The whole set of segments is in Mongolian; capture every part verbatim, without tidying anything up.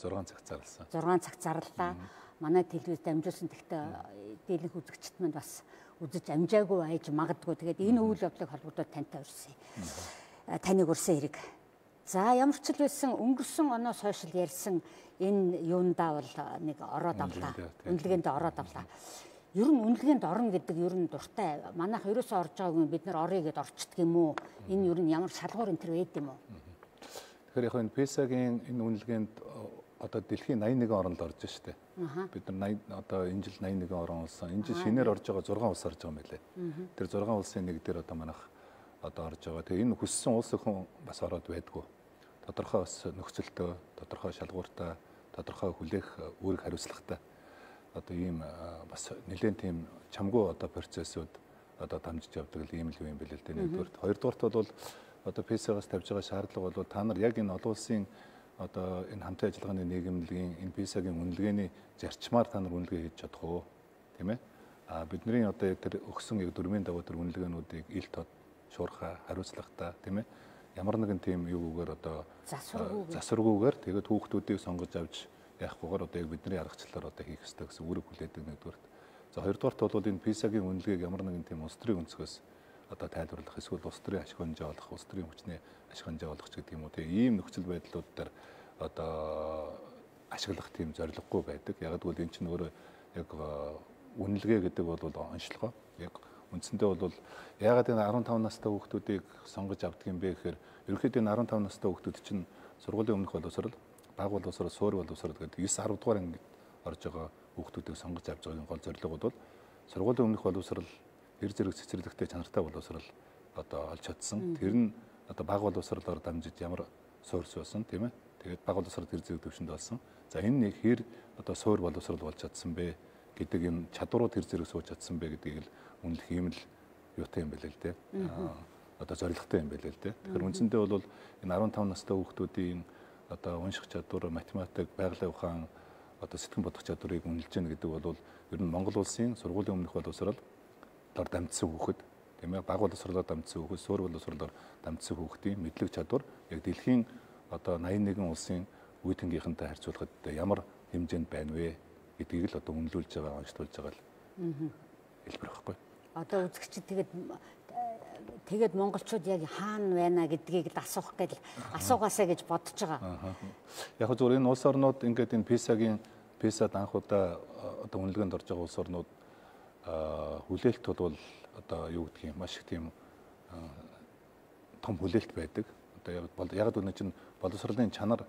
зургаан цаг зарласан. зургаан цаг зарлаа. Манай телевиз дамжуулсан тэгтээ дийлэнх үзэгчд манд бас үзэж амжаагүй айж магадгүй. Тэгээд энэ үйл явдлыг холбогдоод тантай урьсан. Таныг урьсан хэрэг. За ямар ч л байсан өнгөрсөн оноо сошиал ярьсан энэ юундаа бол нэг ороод авлаа. Үнэлгээнд ороод авлаа. Ер нь үнэлгээнд орно гэдэг ер нь дуртай. Манайх ерөөсөө орж байгаагүй бид нар орё гэд орчдөг юм уу? Энэ ер нь ямар шалгуур энэ төр байд юм уу? Тэгэхээр яг энэ писагийн энэ үнэлгээнд одоо дэлхийн найман нэгэн орнд орж штэ. Бид нар одоо энэ жил найман нэгэн орн болсон. Энэ жил шинээр орж байгаа зургаан улс орж байгаа юм байлээ. Тэр зургаан улсын нэг дээр одоо манайх одоо орж байгаа. Тэгээ энэ хүссэн улс өхөн бас ороод байдгүй. Тодорхой бас нөхцөлтөө, тодорхой шалгууртай, тодорхой хүлээх үүрэг хариуцлагатай. Одоо ийм бас нэлээд тийм чамгүй одоо процессууд одоо дамжиж явдаг л ийм л юм билээ л дээ. Нэгдүгээр, хоёрдугаарт бол одоо писагаас тавьж байгаа шаардлага бол та нар яг энэ олон улсын одоо энэ хамтын ажиллагааны нийгэмлэгийн энэ писагийн үнэлгээний зарчмаар та нар үнэлгээ хийж чадах уу? Тийм ээ? А бидний одоо тэр өгсөн яг дөрмийн дагуу тэр үнэлгээнүүдийг ил тод шуурхай хариуцлагатай тийм ээ? Ямар нэгэн тийм юугаар одоо засваргүйгээр тэгээд хүүхдүүдийг сонгож авч яахгүйгээр одоо яг бидний аргачлалаар одоо хийх ёстой гэсэн үүрэг хүлээдэг нэгдүгээрт. За хоёрдугаарт бол энэ писагийн үнэлгээг ямар нэгэн тийм улс төрийн өнцгөөс одоо тайлбарлах эсвэл улс төрийн ашиг хонжоо олох, улс төрийн хүчний ашиг хонжоо олох ч гэдэг юм уу тийм ийм нөхцөл байдлууд дээр одоо ашиглах тийм зорилгогүй байдаг. Яг гэвэл эн чинь өөрөө яг үнэлгээ гэдэг бол онцлогоо яг үндсэндээ бол яагаад энэ арван таван настай хүүхдүүдийг сонгож авдаг юм бэ гэхээр ерөнхийдөө энэ арван таван настай хүүхдүүд чинь сургуулийн өмнөх боловсрол, бага боловсрол, суур боловсрол гэдэг девять десять дугаар ангид орж байгаа хүүхдүүдийг сонгож авч байгаагийн гол зорилго бол сургуулийн өмнөх боловсрол, хэр зэрэг цэцэрлэгтэй чанартай боловсрол одоо олж чадсан. Тэр нь одоо бага боловсролоор дамжиж ямар суурьс байсан тийм ээ. Тэгээд бага боловсрол хэр зэрэг төвшөнд болсон. За энэ нэг хэр одоо суур боловсрол болж чадсан бэ гэдэг юм чадварууд хэр зэрэг сууж чадсан бэ гэдгийг л үнэлэх юм л юутай юм бэ л дээ. Одоо зорилготой юм бэ л дээ. Тэгэхээр үндсэндээ бол энэ арван таван настай хүүхдүүдийн одоо унших чадвар, математик, байгалийн ухаан, одоо сэтгэн бодох чадварыг үнэлж гэнэ гэдэг бол ер нь Монгол улсын сургуулийн өмнөх боловсрол дор дамжсан хүүхэд, тийм ээ, бага боловсролоор дамжсан хүүхэд, суур боловсролоор дамжсан хүүхдийн мэдлэг чадвар яг дэлхийн одоо найман нэгэн улсын үе тэнгийнхэнтэй харьцуулахад ямар хэмжээнд байна вэ гэдгийг л одоо үнэлүүлж байгаа, онцлуулж байгаа л хэлбэр байхгүй. Одоо үзэгчид тэгээд тэгээд монголчууд яг хаана байна гэдгийг л асуух гээл асуугаасаа гэж бодож байгаа. Яг зөв энэ улс орнууд ингээд энэ писагийн писад анхудаа одоо үнэлгээнд орж байгаа улс орнууд хүлээлт бол одоо юу гэдгийг маш их тийм том хүлээлт байдаг. Одоо яг л энэ чинь боловсролын чанар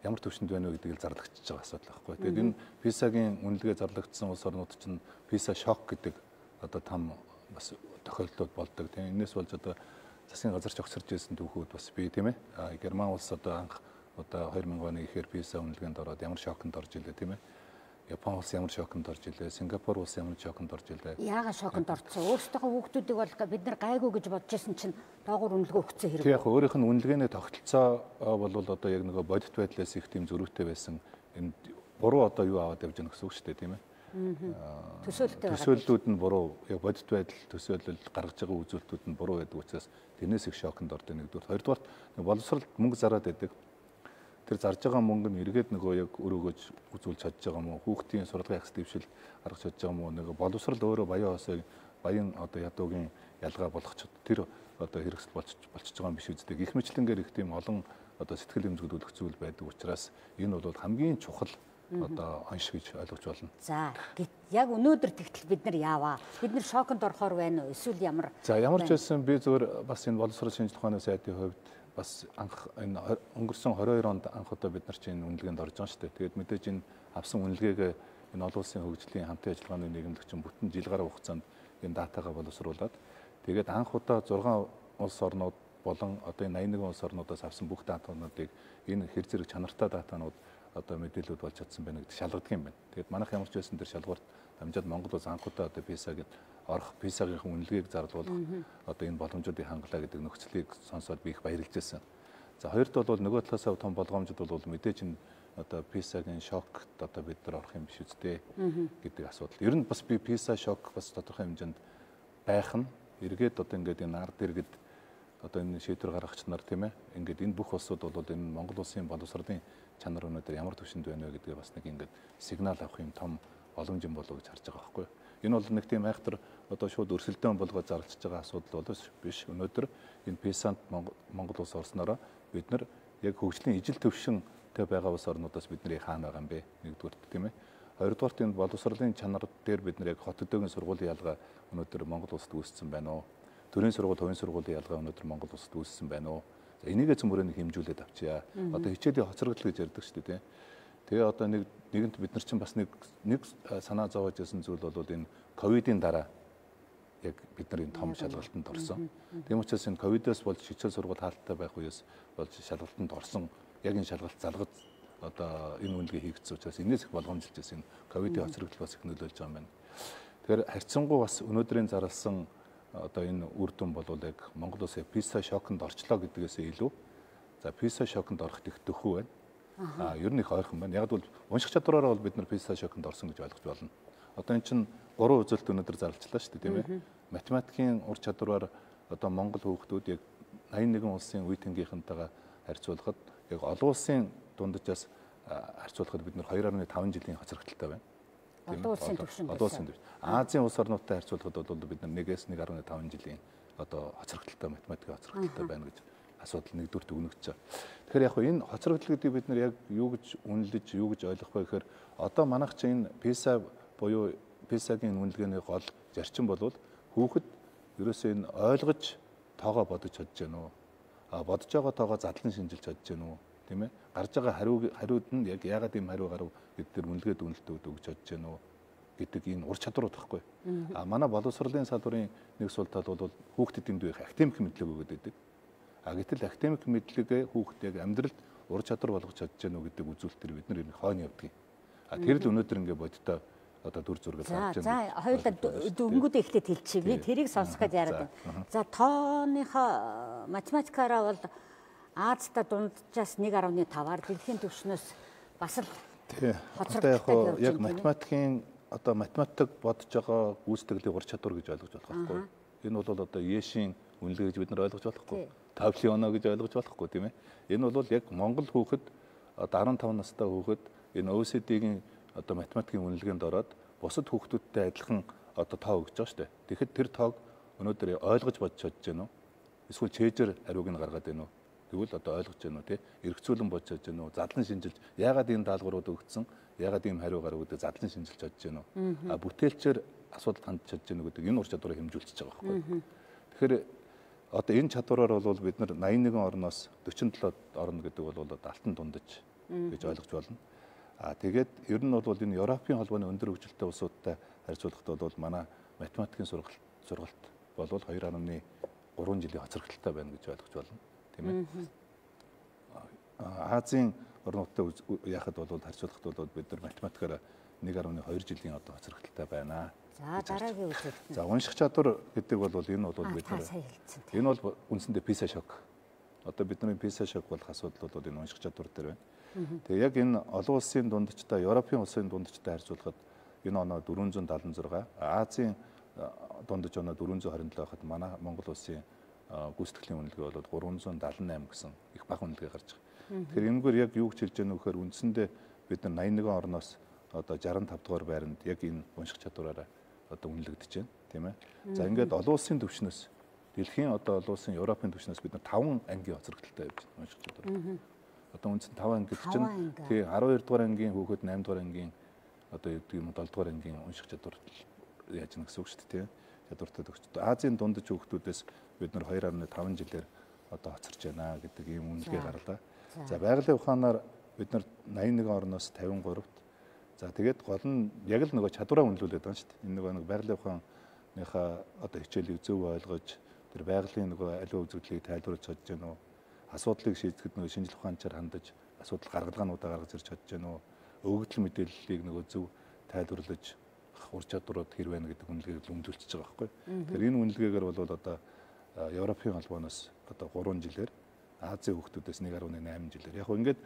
ямар төвшөнд байна вэ гэдгийг зарлагдчихж байгаа асуудал байхгүй. Тэгээд энэ писагийн үнэлгээ зарлагдсан улс орнууд чинь писа шок гэдэг одоо там бас тохиолдлууд болдог. Тийм энэс болж одоо засгийн газарч огцорж ирсэн түүхүүд бас бий тийм ээ. Герман улс одоо анх одоо хоёр мянган оны ихээр писа үнэлгээнд ороод ямар шоконд орж илээ тийм ээ. Япон улс ямар шоконд орж илээ, Сингапур улс ямар шоконд орж илээ. Яагаад шоконд орсон? Өөрсдөө хүүхдүүдийг бол бид нар гайгүй гэж бодож байсан чинь доогуур үнэлгээ өгсөн хэрэг. Тийм яг өөрийнх нь үнэлгээний тогтолцоо бол одоо яг нөгөө бодит байдлаас их тийм зөрүүтэй байсан. Энэ буруу одоо юу аваад явж байгаа гэсэн үг шүү дээ тийм ээ. Төсөөлөлтөө төсөөллүүд нь буруу, яг бодит байдал төсөөлөл гаргаж байгаа үзүүлэлтүүд нь буруу байдаг учраас тэрнээс их шоконд ордог нэгдүгээр. Хоёрдугаар боловсролд мөнгө зараад байдаг. Тэр зарж байгаа мөнгө нь эргээд нөгөө яг өрөөгөж үзүүлж чадж байгаа юм уу? Хүүхдийн сургалтын ахс дэвшил гаргаж чадж байгаа юм уу? Нөгөө боловсрол өөрөө баян хоосой баян одоо ядуугийн ялгаа болгоч тэр одоо хэрэгсэл болчих болчихж байгаа юм биш үстэй. Гэх мэтлэнгээр их тийм олон одоо сэтгэл хэмжүүлэх зүйл байдаг учраас энэ бол хамгийн чухал одоо онш гэж ойлгож болно. За яг өнөөдөр тэгтэл бид нар яаваа. Бид нар шоконд орохоор байна уу? Эсвэл ямар? За ямар ч байсан би зөвөр бас энэ боловсрол шинжилгээ ухааны сайдын хувьд бас анх энэ өнгөрсөн двадцать хоёр онд анх удаа бид нар чинь үнэлгээнд орж байгаа шүү дээ. Тэгээд мэдээж энэ авсан үнэлгээгээ энэ олон улсын хөгжлийн хамтын ажиллагааны нийгэмлэгчин бүтэн жил гаруй хугацаанд энэ датагаа боловсруулад тэгээд анх удаа зургаан улс орнууд болон одоо энэ найман нэгэн улс орнуудаас авсан бүх датануудыг энэ хэр зэрэг чанартай датанууд одоо мэдээлэлүүд болж чадсан байна гэдэг шалгадаг юм байна. Тэгээд манайх ямар ч байсан тэр шалгуурт дамжаад Монгол улс анх удаа одоо писагийн орох писагийн үнэлгээг зарлуулах одоо энэ боломжуудыг хангалаа гэдэг нөхцөлийг сонсоод би их баярлж байсан. За хоёрт бол нөгөө талаас том болгоомжууд бол мэдээж энэ одоо писагийн шокт одоо бид нар орох юм биш үстэй гэдэг асуудал. Ер нь бас би писа шок бас тодорхой хэмжээнд байх нь эргээд одоо ингээд энэ ард иргэд одоо энэ шийдвэр гаргагч нар тийм ээ ингээд энэ бүх улсууд бол энэ Монгол улсын боловсролын чанар өнөөдөр ямар түвшинд байна вэ гэдгээ бас нэг ингээд сигнал авах юм том боломж юм болов уу гэж харж байгаа байхгүй. Энэ бол нэг тийм айхтар одоо шууд өрсөлдөөн болгоод зарлж байгаа асуудал бол биш. Өнөөдөр энэ писанд Монгол улс орснороо бид нар яг хөгжлийн ижил төвшинтэй байгаа улс орнуудаас бид нар хаана байгаа юм бэ? Нэгдүгürt тийм ээ. Хоёрдугаарт энэ боловсролын чанар дээр бид нар яг хот өдөөгийн сургуулийн ялгаа өнөөдөр Монгол улсад үүссэн байна уу? Төрийн сургууль, хувийн сургуулийн ялгаа өнөөдөр Монгол улсад үүссэн байна уу? За энийг зөвмөрөнд хэмжүүлээд авчия. Одоо хичээлийн хоцрогдол гэж ярьдаг шүү дээ. Тэгээ одоо нэг нэгэнт бид нар чинь бас нэг нэг санаа зовоож байсан зүйл бол энэ ковидын дараа яг бид нар энэ том шалгалтанд орсон. Тийм учраас энэ ковидоос болж хичээл сургууль хаалттай байх үеэс болж шалгалтанд орсон. Яг энэ шалгалт залгаж одоо энэ үнэлгээ хийгдсэн учраас энэс их болгоомжилж байсан ковидын хоцрогдол бас их нөлөөлж байгаа юм байна. Тэгэхээр харьцангуй бас өнөөдрийн зарласан одоо энэ үр дүн бол яг Монгол улсын писа шоконд орчлоо гэдгээс илүү за писа шоконд орохт их дөхөө байна. А ер нь их ойрхон байна. Яг бол унших чадвараараа бол бид нар писа шоконд орсон гэж ойлгож болно. Одоо эн чинь гурван үзэлт өнөөдөр зарлчлаа шүү дээ, тийм ээ. Математикийн ур чадвараар одоо Монгол хүүхдүүд яг восемь нэгэн улсын үе тэнгийнхэнтэйгээ харьцуулахад яг олон улсын дунджаас харьцуулахад бид нар two point five жилийн хоцрогдолтой байна. Олон улсын түвшинд. Олон улсын түвшинд. Азийн улс орнуудтай харьцуулахад бол бид нар one-ээс one point five жилийн одоо хоцрогдолтой математикийн хоцрогдолтой байна гэж асуудал нэгдүгürt өгнөгч байгаа. Тэгэхээр яг энэ хоцрогдол гэдэг бид нар яг юу гэж үнэлж, юу гэж ойлгох вэ гэхээр одоо манайх чинь энэ писа буюу писагийн үнэлгээний гол зарчим бол хүүхэд ерөөсөө энэ ойлгож тоогоо бодож чадж гэнэ үү? А бодож байгаа тоогоо задлан шинжилж чадж гэнэ үү? Тийм ээ? Гарч байгаа хариу хариуд нь яг яагаад ийм хариу гарав гэдэг үнэлгээд үнэлтүүд өгч чадж гэнэ үү гэдэг энэ ур чадварууд байхгүй. А манай боловсролын салбарын нэг сул тал бол хүүхдэд энд байх академик мэдлэг өгöd байдаг. А гэтэл академик мэдлэгээ хүүхд яг амьдралд ур чадвар болгож чадж гэнэ үү гэдэг үзүүлэлтээр бид нар энэ хойно явдаг. А тэр л өнөөдөр ингээ бодтой одоо дүр зураг гарч байна. За хоёулаа дөнгөд ихтэй хэлчихье. Би тэрийг сонсох гэж яриад байна. За тооныхоо математикаараа бол Азта дунджаас one point five-аар дэлхийн түвшнээс бас л хоцрогдолтой яг математикийн одоо математик бодож байгаа гүйцэтгэлийн ур чадвар гэж ойлгож болох байхгүй. Энэ бол одоо Ешийн үнэлгээ гэж бид нар ойлгож болохгүй. Таблионо гэж ойлгож болохгүй тийм ээ. Энэ бол яг Монгол хүүхэд одоо fifteen настай хүүхэд энэ о и си ди-гийн одоо математикийн үнэлгээнд ороод бусад хүүхдүүдтэй адилхан одоо тоо өгч байгаа шүү дээ. Тэгэхэд тэр тоог өнөөдөр ойлгож бодож чадж гэнэ үү? Эсвэл чэйжэр хариуг нь гаргаад байна уу? Тэгвэл одоо ойлгож гэнэ үү те? Эргцүүлэн бодож чадж гэнэ үү? Задлан шинжилж яагаад ийм даалгаврууд өгсөн? Яагаад ийм хариу гарав гэдэг задлан шинжилж чадж гэнэ үү? А бүтээлчээр асуудал хандж чадж гэнэ үү гэдэг энэ ур чадварыг хэмжүүлчихэж байгаа байхгүй. Тэгэхээр одоо энэ чадвараар бол бид нар ninety one орноос forty-seven орно гэдэг бол алтан дундаж гэж ойлгож болно. А тэгээд ер нь бол энэ Европын холбооны өндөр хөгжилтэй улсуудтай харьцуулахад бол манай математикийн сургалт сургалт бол two point three жилийн хоцрогдолтой байна гэж ойлгож болно. Тийм ээ. Азийн орнуудтай яхад бол харьцуулахад бол бид нар математикаараа one point two жилийн одоо хоцрогдолтой байна. За дараагийн үзэлт. За унших чадвар гэдэг бол энэ бол бид нар энэ бол үндсэндээ писа шок. Одоо бидний писа шок болох асуудал бол энэ унших чадвар дээр байна. Тэгээ яг энэ олон улсын дундчтай, Европын улсын дундчтай харьцуулахад энэ оноо four seventy six, Азийн дундаж оноо four twenty seven байхад манай Монгол улсын гүйцэтгэлийн үнэлгээ бол three seventy-eight гэсэн их бага үнэлгээ гарч байгаа. Тэгэхээр энэгээр яг юу гэж хэлж байгаа нөхөр үндсэндээ бид нар ninety one орноос одоо sixty-five дугаар байранд яг энэ унших чадвараараа одоо үнэлэгдэж байна, тийм ээ. За ингээд олон улсын түвшнээс дэлхийн одоо олон улсын Европын түвшнээс бид нар five ангийн хоцрогдолтой явж байна унших чадвар. Одоо үндсэн five анги гэдэг чинь тий twelve дугаар ангийн хүүхэд eight дугаар ангийн одоо юу гэдэг юм seven дугаар ангийн унших чадвар яаж нэг гэсэн үг шүү дээ, тий. Чадвартай төгсдөг. Азийн дундаж хүүхдүүдээс бид нар two point five жилээр одоо хоцорч байна гэдэг ийм үнэлгээ гарлаа. За байгалийн ухаанаар бид нар ninety one орноос fifty-three-т. За тэгээд гол нь яг л нөгөө чадвараа үнэлүүлээд байгаа шүү дээ. Энэ нөгөө нэг байгалийн ухааныхаа одоо хичээлийг зөв ойлгож тэр байгалийн нөгөө аливаа үзэгдлийг тайлбарлаж чадж гэнэ үү? Асуудлыг шийдэхэд нөгөө шинжлэх ухаанчаар хандаж асуудал гаргалгаануудаа гаргаж ирж чадж гэнэ үү? Өгөгдөл мэдээллийг нөгөө зөв тайлбарлаж ур чадварууд хэр байна гэдэг үнэлгээг үнэлүүлчихэж байгаа байхгүй. Тэгэхээр энэ үнэлгээгээр бол одоо Европын холбооноос одоо three жилээр Азийн хүүхдүүдээс one point eight жилээр яг ингээд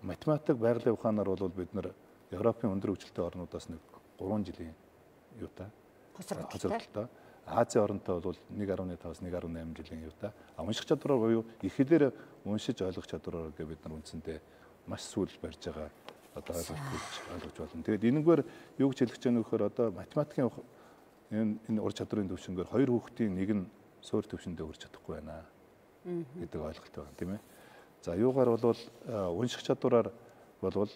математик байгалийн ухаанаар бол бид нар Европын өндөр хөгжилтэй орнуудаас нэг three жилийн юутай хоцрогдолтой. Азийн оронтой бол one point five-аас one point eight жилийн юутай. А унших чадвараар буюу их хэлээр уншиж ойлгох чадвараар гэ бид нар үндсэндээ маш сүүл барьж байгаа одоо ойлгож ойлгож болно. Тэгээд энэгээр юу гэж хэлэх гэж байгаа нөхөр одоо математикийн энэ энэ ур чадрын төвшингээр хоёр хүүхдийн нэг нь суур төвшөндөө хүрч чадахгүй байна гэдэг ойлголт байна, тийм ээ. За юугаар бол унших чадвараар болвол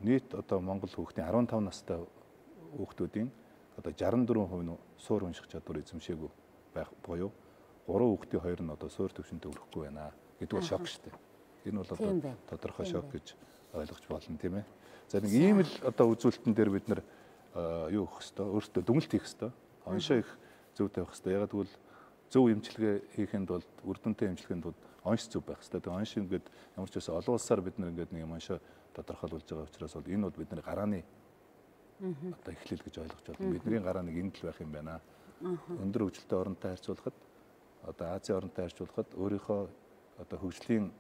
нийт одоо Монгол хүүхдийн арван тав настай хүүхдүүдийн одоо шестдесет и четыре хувь нь суур унших чадвар эзэмшээгүй байх буюу гурван хүүхдийн хоёр нь одоо суур төвшөндөө хүрэхгүй байна гэдэг бол шок шүү дээ. Энэ бол одоо тодорхой шок гэж ойлгож болно, тийм ээ. За нэг ийм л одоо үзүүлэлтэн дээр бид нар юу хийх хэвээр өөртөө дүгнэлт хийх хэвээр оншоо их зөв тавих хэвээр. Ягаад гэвэл зөв эмчилгээ хийхэд бол үр дүнтэй эмчилгээнд бол онш зөв байх хэвээр. Тэгээ онш ингээд ямар ч байсан олон улсаар бид нар ингээд нэг юм оншоо тодорхойлуулж байгаа учраас бол энэ бол бидний гарааны одоо эхлэл гэж ойлгож байна. Бидний гараа нэг энд л байх юм байна. Өндөр хөгжилтэй оронтой харьцуулахад одоо Азийн оронтой харьцуулахад өөрийнхөө одоо хөгжлийн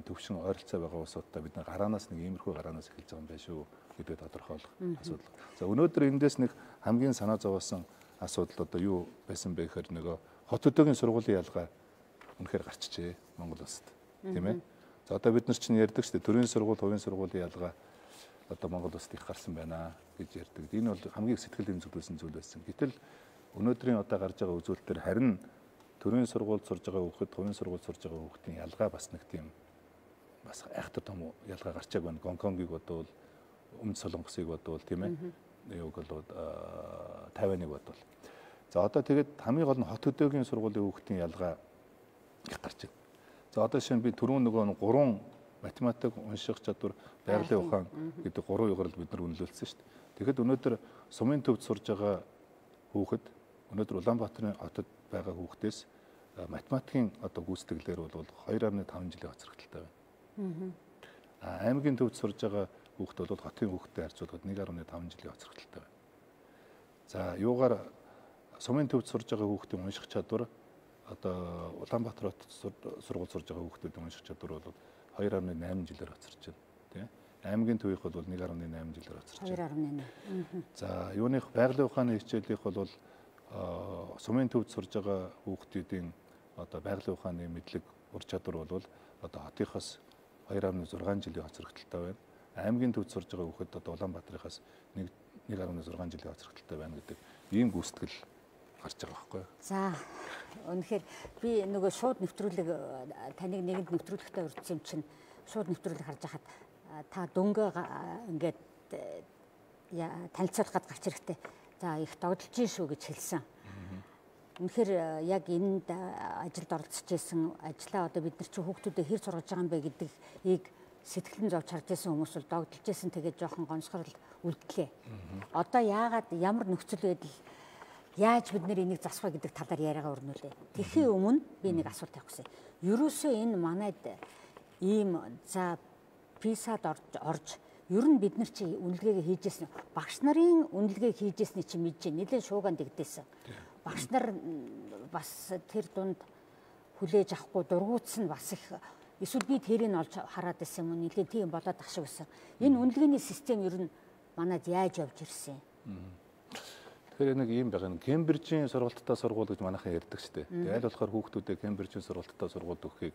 төвшин ойролцоо байгаа улсуудтай бид нар гараанаас нэг иймэрхүү гараанаас эхэлж байгаа юм байна шүү гэдэг тодорхойлох асуудал. За өнөөдөр эндээс нэг хамгийн санаа зовоосон асуудал одоо юу байсан бэ гэхээр нөгөө хот хөдөөгийн сургуулийн ялгаа үнэхээр гарчжээ Монгол улсад, тийм ээ. За одоо бид нар чинь ярьдаг шүү дээ төрийн сургууль, хувийн сургуулийн ялгаа одоо Монгол улсад их гарсан байна гэж ярьдаг. Энэ бол хамгийн сэтгэл хөдлөсөн зүйл байсан. Гэтэл өнөөдрийн одоо гарч байгаа үзүүлэлтээр харин төрийн сургуульд сурж байгаа хүүхэд, хувийн сургуульд сурж байгаа хүүхдийн ялгаа бас нэг тийм бас айхтар том ялгаа гарчааг байна. Гонконгийг бодвол, Өмнөд Солонгосыг бодвол, тийм ээ. Юуг бол Тайваныг бодвол. За одоо тэгээд хамгийн гол нь хот хөдөөгийн сургуулийн хүүхдийн ялгаа их гарч байна. За одоо шинэ би түрүүн нөгөө гурван математик, унших чадвар, байгалийн ухаан гэдэг гурван югаар л бид нар үнэлүүлсэн шүү дээ. Тэгэхэд өнөөдөр сумын төвд сурж байгаа хүүхэд өнөөдөр Улаанбаатарын хотод байгаа хүүхдээс математикийн одоо гүйцэтгэлээр бол хоёр фаصله пять жилийн хоцрогдолтой байна. Аа аймгийн төвд сурж байгаа хүүхэд бол хотын хүүхдтэй харьцуулахад нэг фаصله пять жилийн хоцрогдолтой байна. За юугаар сумын төвд сурж байгаа хүүхдийн унших чадвар одоо Улаанбаатар хотод сургууль сурж байгаа хүүхдүүдийн унших чадвар бол хоёр фаصله восемь жилээр хоцорч байна, тийм. Аймгийн төвийнх бол нэг фаصله восемь жилээр хоцорч байна. хоёр фаصله восемь. За юуных байгалийн ухааны хичээлийнх бол сумын төвд сурж байгаа хүүхдүүдийн одоо байгалийн ухааны мэдлэг ур чадвар бол одоо хотынхоос хоёр фаصله шесть жилийн хоцрогдолтой байна. Аймгийн төвд сурж байгаа хүүхэд одоо Улаанбаатарынхаас нэг фаصله шесть жилийн хоцрогдолтой байна гэдэг ийм гүйцэтгэл гарч байгаа байхгүй юу? За үнэхээр би нөгөө шууд нэвтрүүлэг таныг нэгэнд нэвтрүүлэхтэй урьдсан юм чинь шууд нэвтрүүлэг харж байхад та дөнгөө ингээд танилцуулах гэж гарч ирэхтэй. За их догдолж гин шүү гэж хэлсэн. Үнэхээр яг энд ажилд оролцож исэн ажлаа одоо бид нар чи хүүхдүүдэд хэр сургаж байгаа юм бэ гэдгийг сэтгэлэн зовж харж исэн хүмүүс бол догдолж исэн тэгээд жоохон гонсгорл үлдлээ. Одоо яагаад ямар нөхцөл байдал яаж бид нэр энийг засах вэ гэдэг талаар яриагаа өрнүүлээ. Тэрхийн өмнө би нэг асуулт тавих гэсэн. Ерөөсөө энэ манайд ийм за писад орж ер нь бид нар чи үнэлгээгээ хийжсэн багш нарын үнэлгээг хийжсэний чи мэдэж нэлээд шууган дэгдээсэн. Багш нар бас тэр дунд хүлээж авахгүй дургуутсан бас их эсвэл би тэрийг олж хараад байсан юм нэлээд тийм болоод ах шиг байсан. Энэ үнэлгээний систем ер нь манайд яаж явж ирсэн юм? Тэгэхээр нэг юм байгаа. Кембрижийн сургалттай сургууль гэж манайхан ярьдаг шүү дээ. Тэгээ аль болохоор хүүхдүүдэд Кембрижийн сургалттай сургууль өгөхийг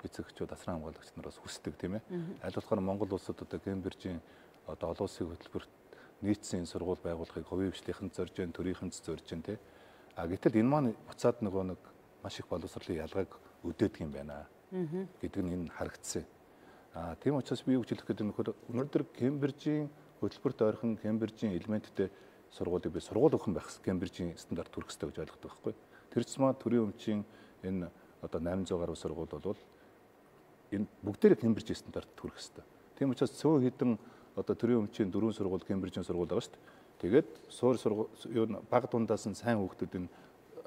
эцэгчүүд асран хамгаалагч нараас хүсдэг тийм ээ. Аль болохоор Монгол улсад одоо Кембрижийн одоо олон улсын хөтөлбөрт нийцсэн сургууль байгуулахыг хувийн хвшлийнхэн зорж जैन, төрийнхэн зорж जैन тийм. А гэтэл энэ маань буцаад нөгөө нэг маш их боловсролын ялгааг өдөөдөг юм байна гэдэг нь энэ харагдсан. А тийм учраас би юу гэж хэлэх гэдэг нөхөр өнөөдөр Кембрижийн хөтөлбөрт ойрхон Кембрижийн элементтэй сургуулийг би сургууль өгөх байх Кембрижийн стандарт хүрэх хэрэгтэй гэж ойлгодог байхгүй. Тэр цэцмаа төрийн өмчийн энэ одоо восемь сто гаруй сургууль бол энэ бүгдээрээ Кембрижийн стандарт хүрэх хэрэгтэй. Тийм учраас цөөн хідэн одоо төрийн өмчийн дөрвөн сургууль Кембрижийн сургууль байгаа шүү дээ. Тэгээд суур сургууль юу баг дундаас нь сайн хүүхдүүдийг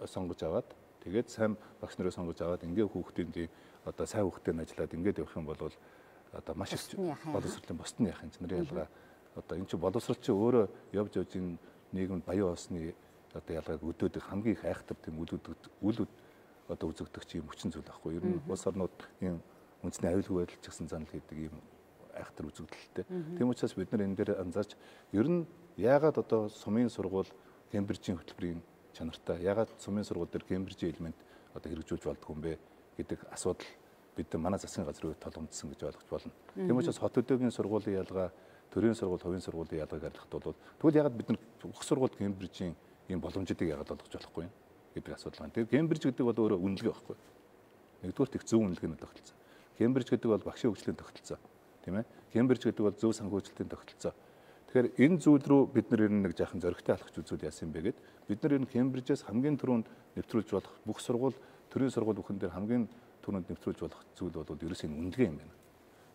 сонгож аваад тэгээд сайн багш нарыг сонгож аваад ингээ хүүхдүүдийн одоо сайн хүүхдтэй ажиллаад ингээд явах юм бол одоо маш их боловсролын босд нь яах юм нэр ялгаа одоо энэ чинь боловсрол чинь өөрөө явж явж энэ нийгэмд баян осны одоо ялгааг өдөөдөг хамгийн их айхтар тийм үл үл одоо үзэгдэх чи юм хүчин зүйл байхгүй. Ер нь улс орнууд ийм үндэсний аюулгүй байдал ч гэсэн занал гэдэг ийм айхтар үзэгдэлтэй. Тийм учраас бид нар энэ дээр анзаарч ер нь яагаад одоо сумын сургууль Кембрижийн хөтөлбөрийн чанартай яагаад сумын сургууль дээр Кембрижийн элемент одоо хэрэгжүүлж болдгоо юм бэ гэдэг асуудал бид нар манай засгийн газрын хувьд толгомдсон гэж ойлгож болно. Тийм учраас хот өдөөгийн сургуулийн ялгаа, төрийн сургууль, хувийн сургуулийн ялгааг харьлахад бол тэгвэл ягаад бид нар бүх сургууль Кембрижийн ийм боломжуудыг ягаад олгож болохгүй юм гэдэг асуудал байна. Тэгэхээр Кембриж гэдэг бол өөрөө үнэлгээ байхгүй. Нэгдүгээр их зөв үнэлгээний тогтолцоо. Кембриж гэдэг бол багшийн хөгжлийн тогтолцоо. Тийм ээ. Кембриж гэдэг бол зөв санхүүжилтийн тогтолцоо. Тэгэхээр энэ зүйл рүү бид нар ер нь нэг жаахан зөрөгтэй алхаж үзүүл яасан юм бэ гэд бид нар ер нь Кембрижээс хамгийн түрүүнд нэвтрүүлж болох бүх сургууль, төрийн сургууль бүхэн дээр хамгийн түрүүнд нэвтрүүлж болох зүйл бол ерөөсөө энэ үнэлгээ юм байна.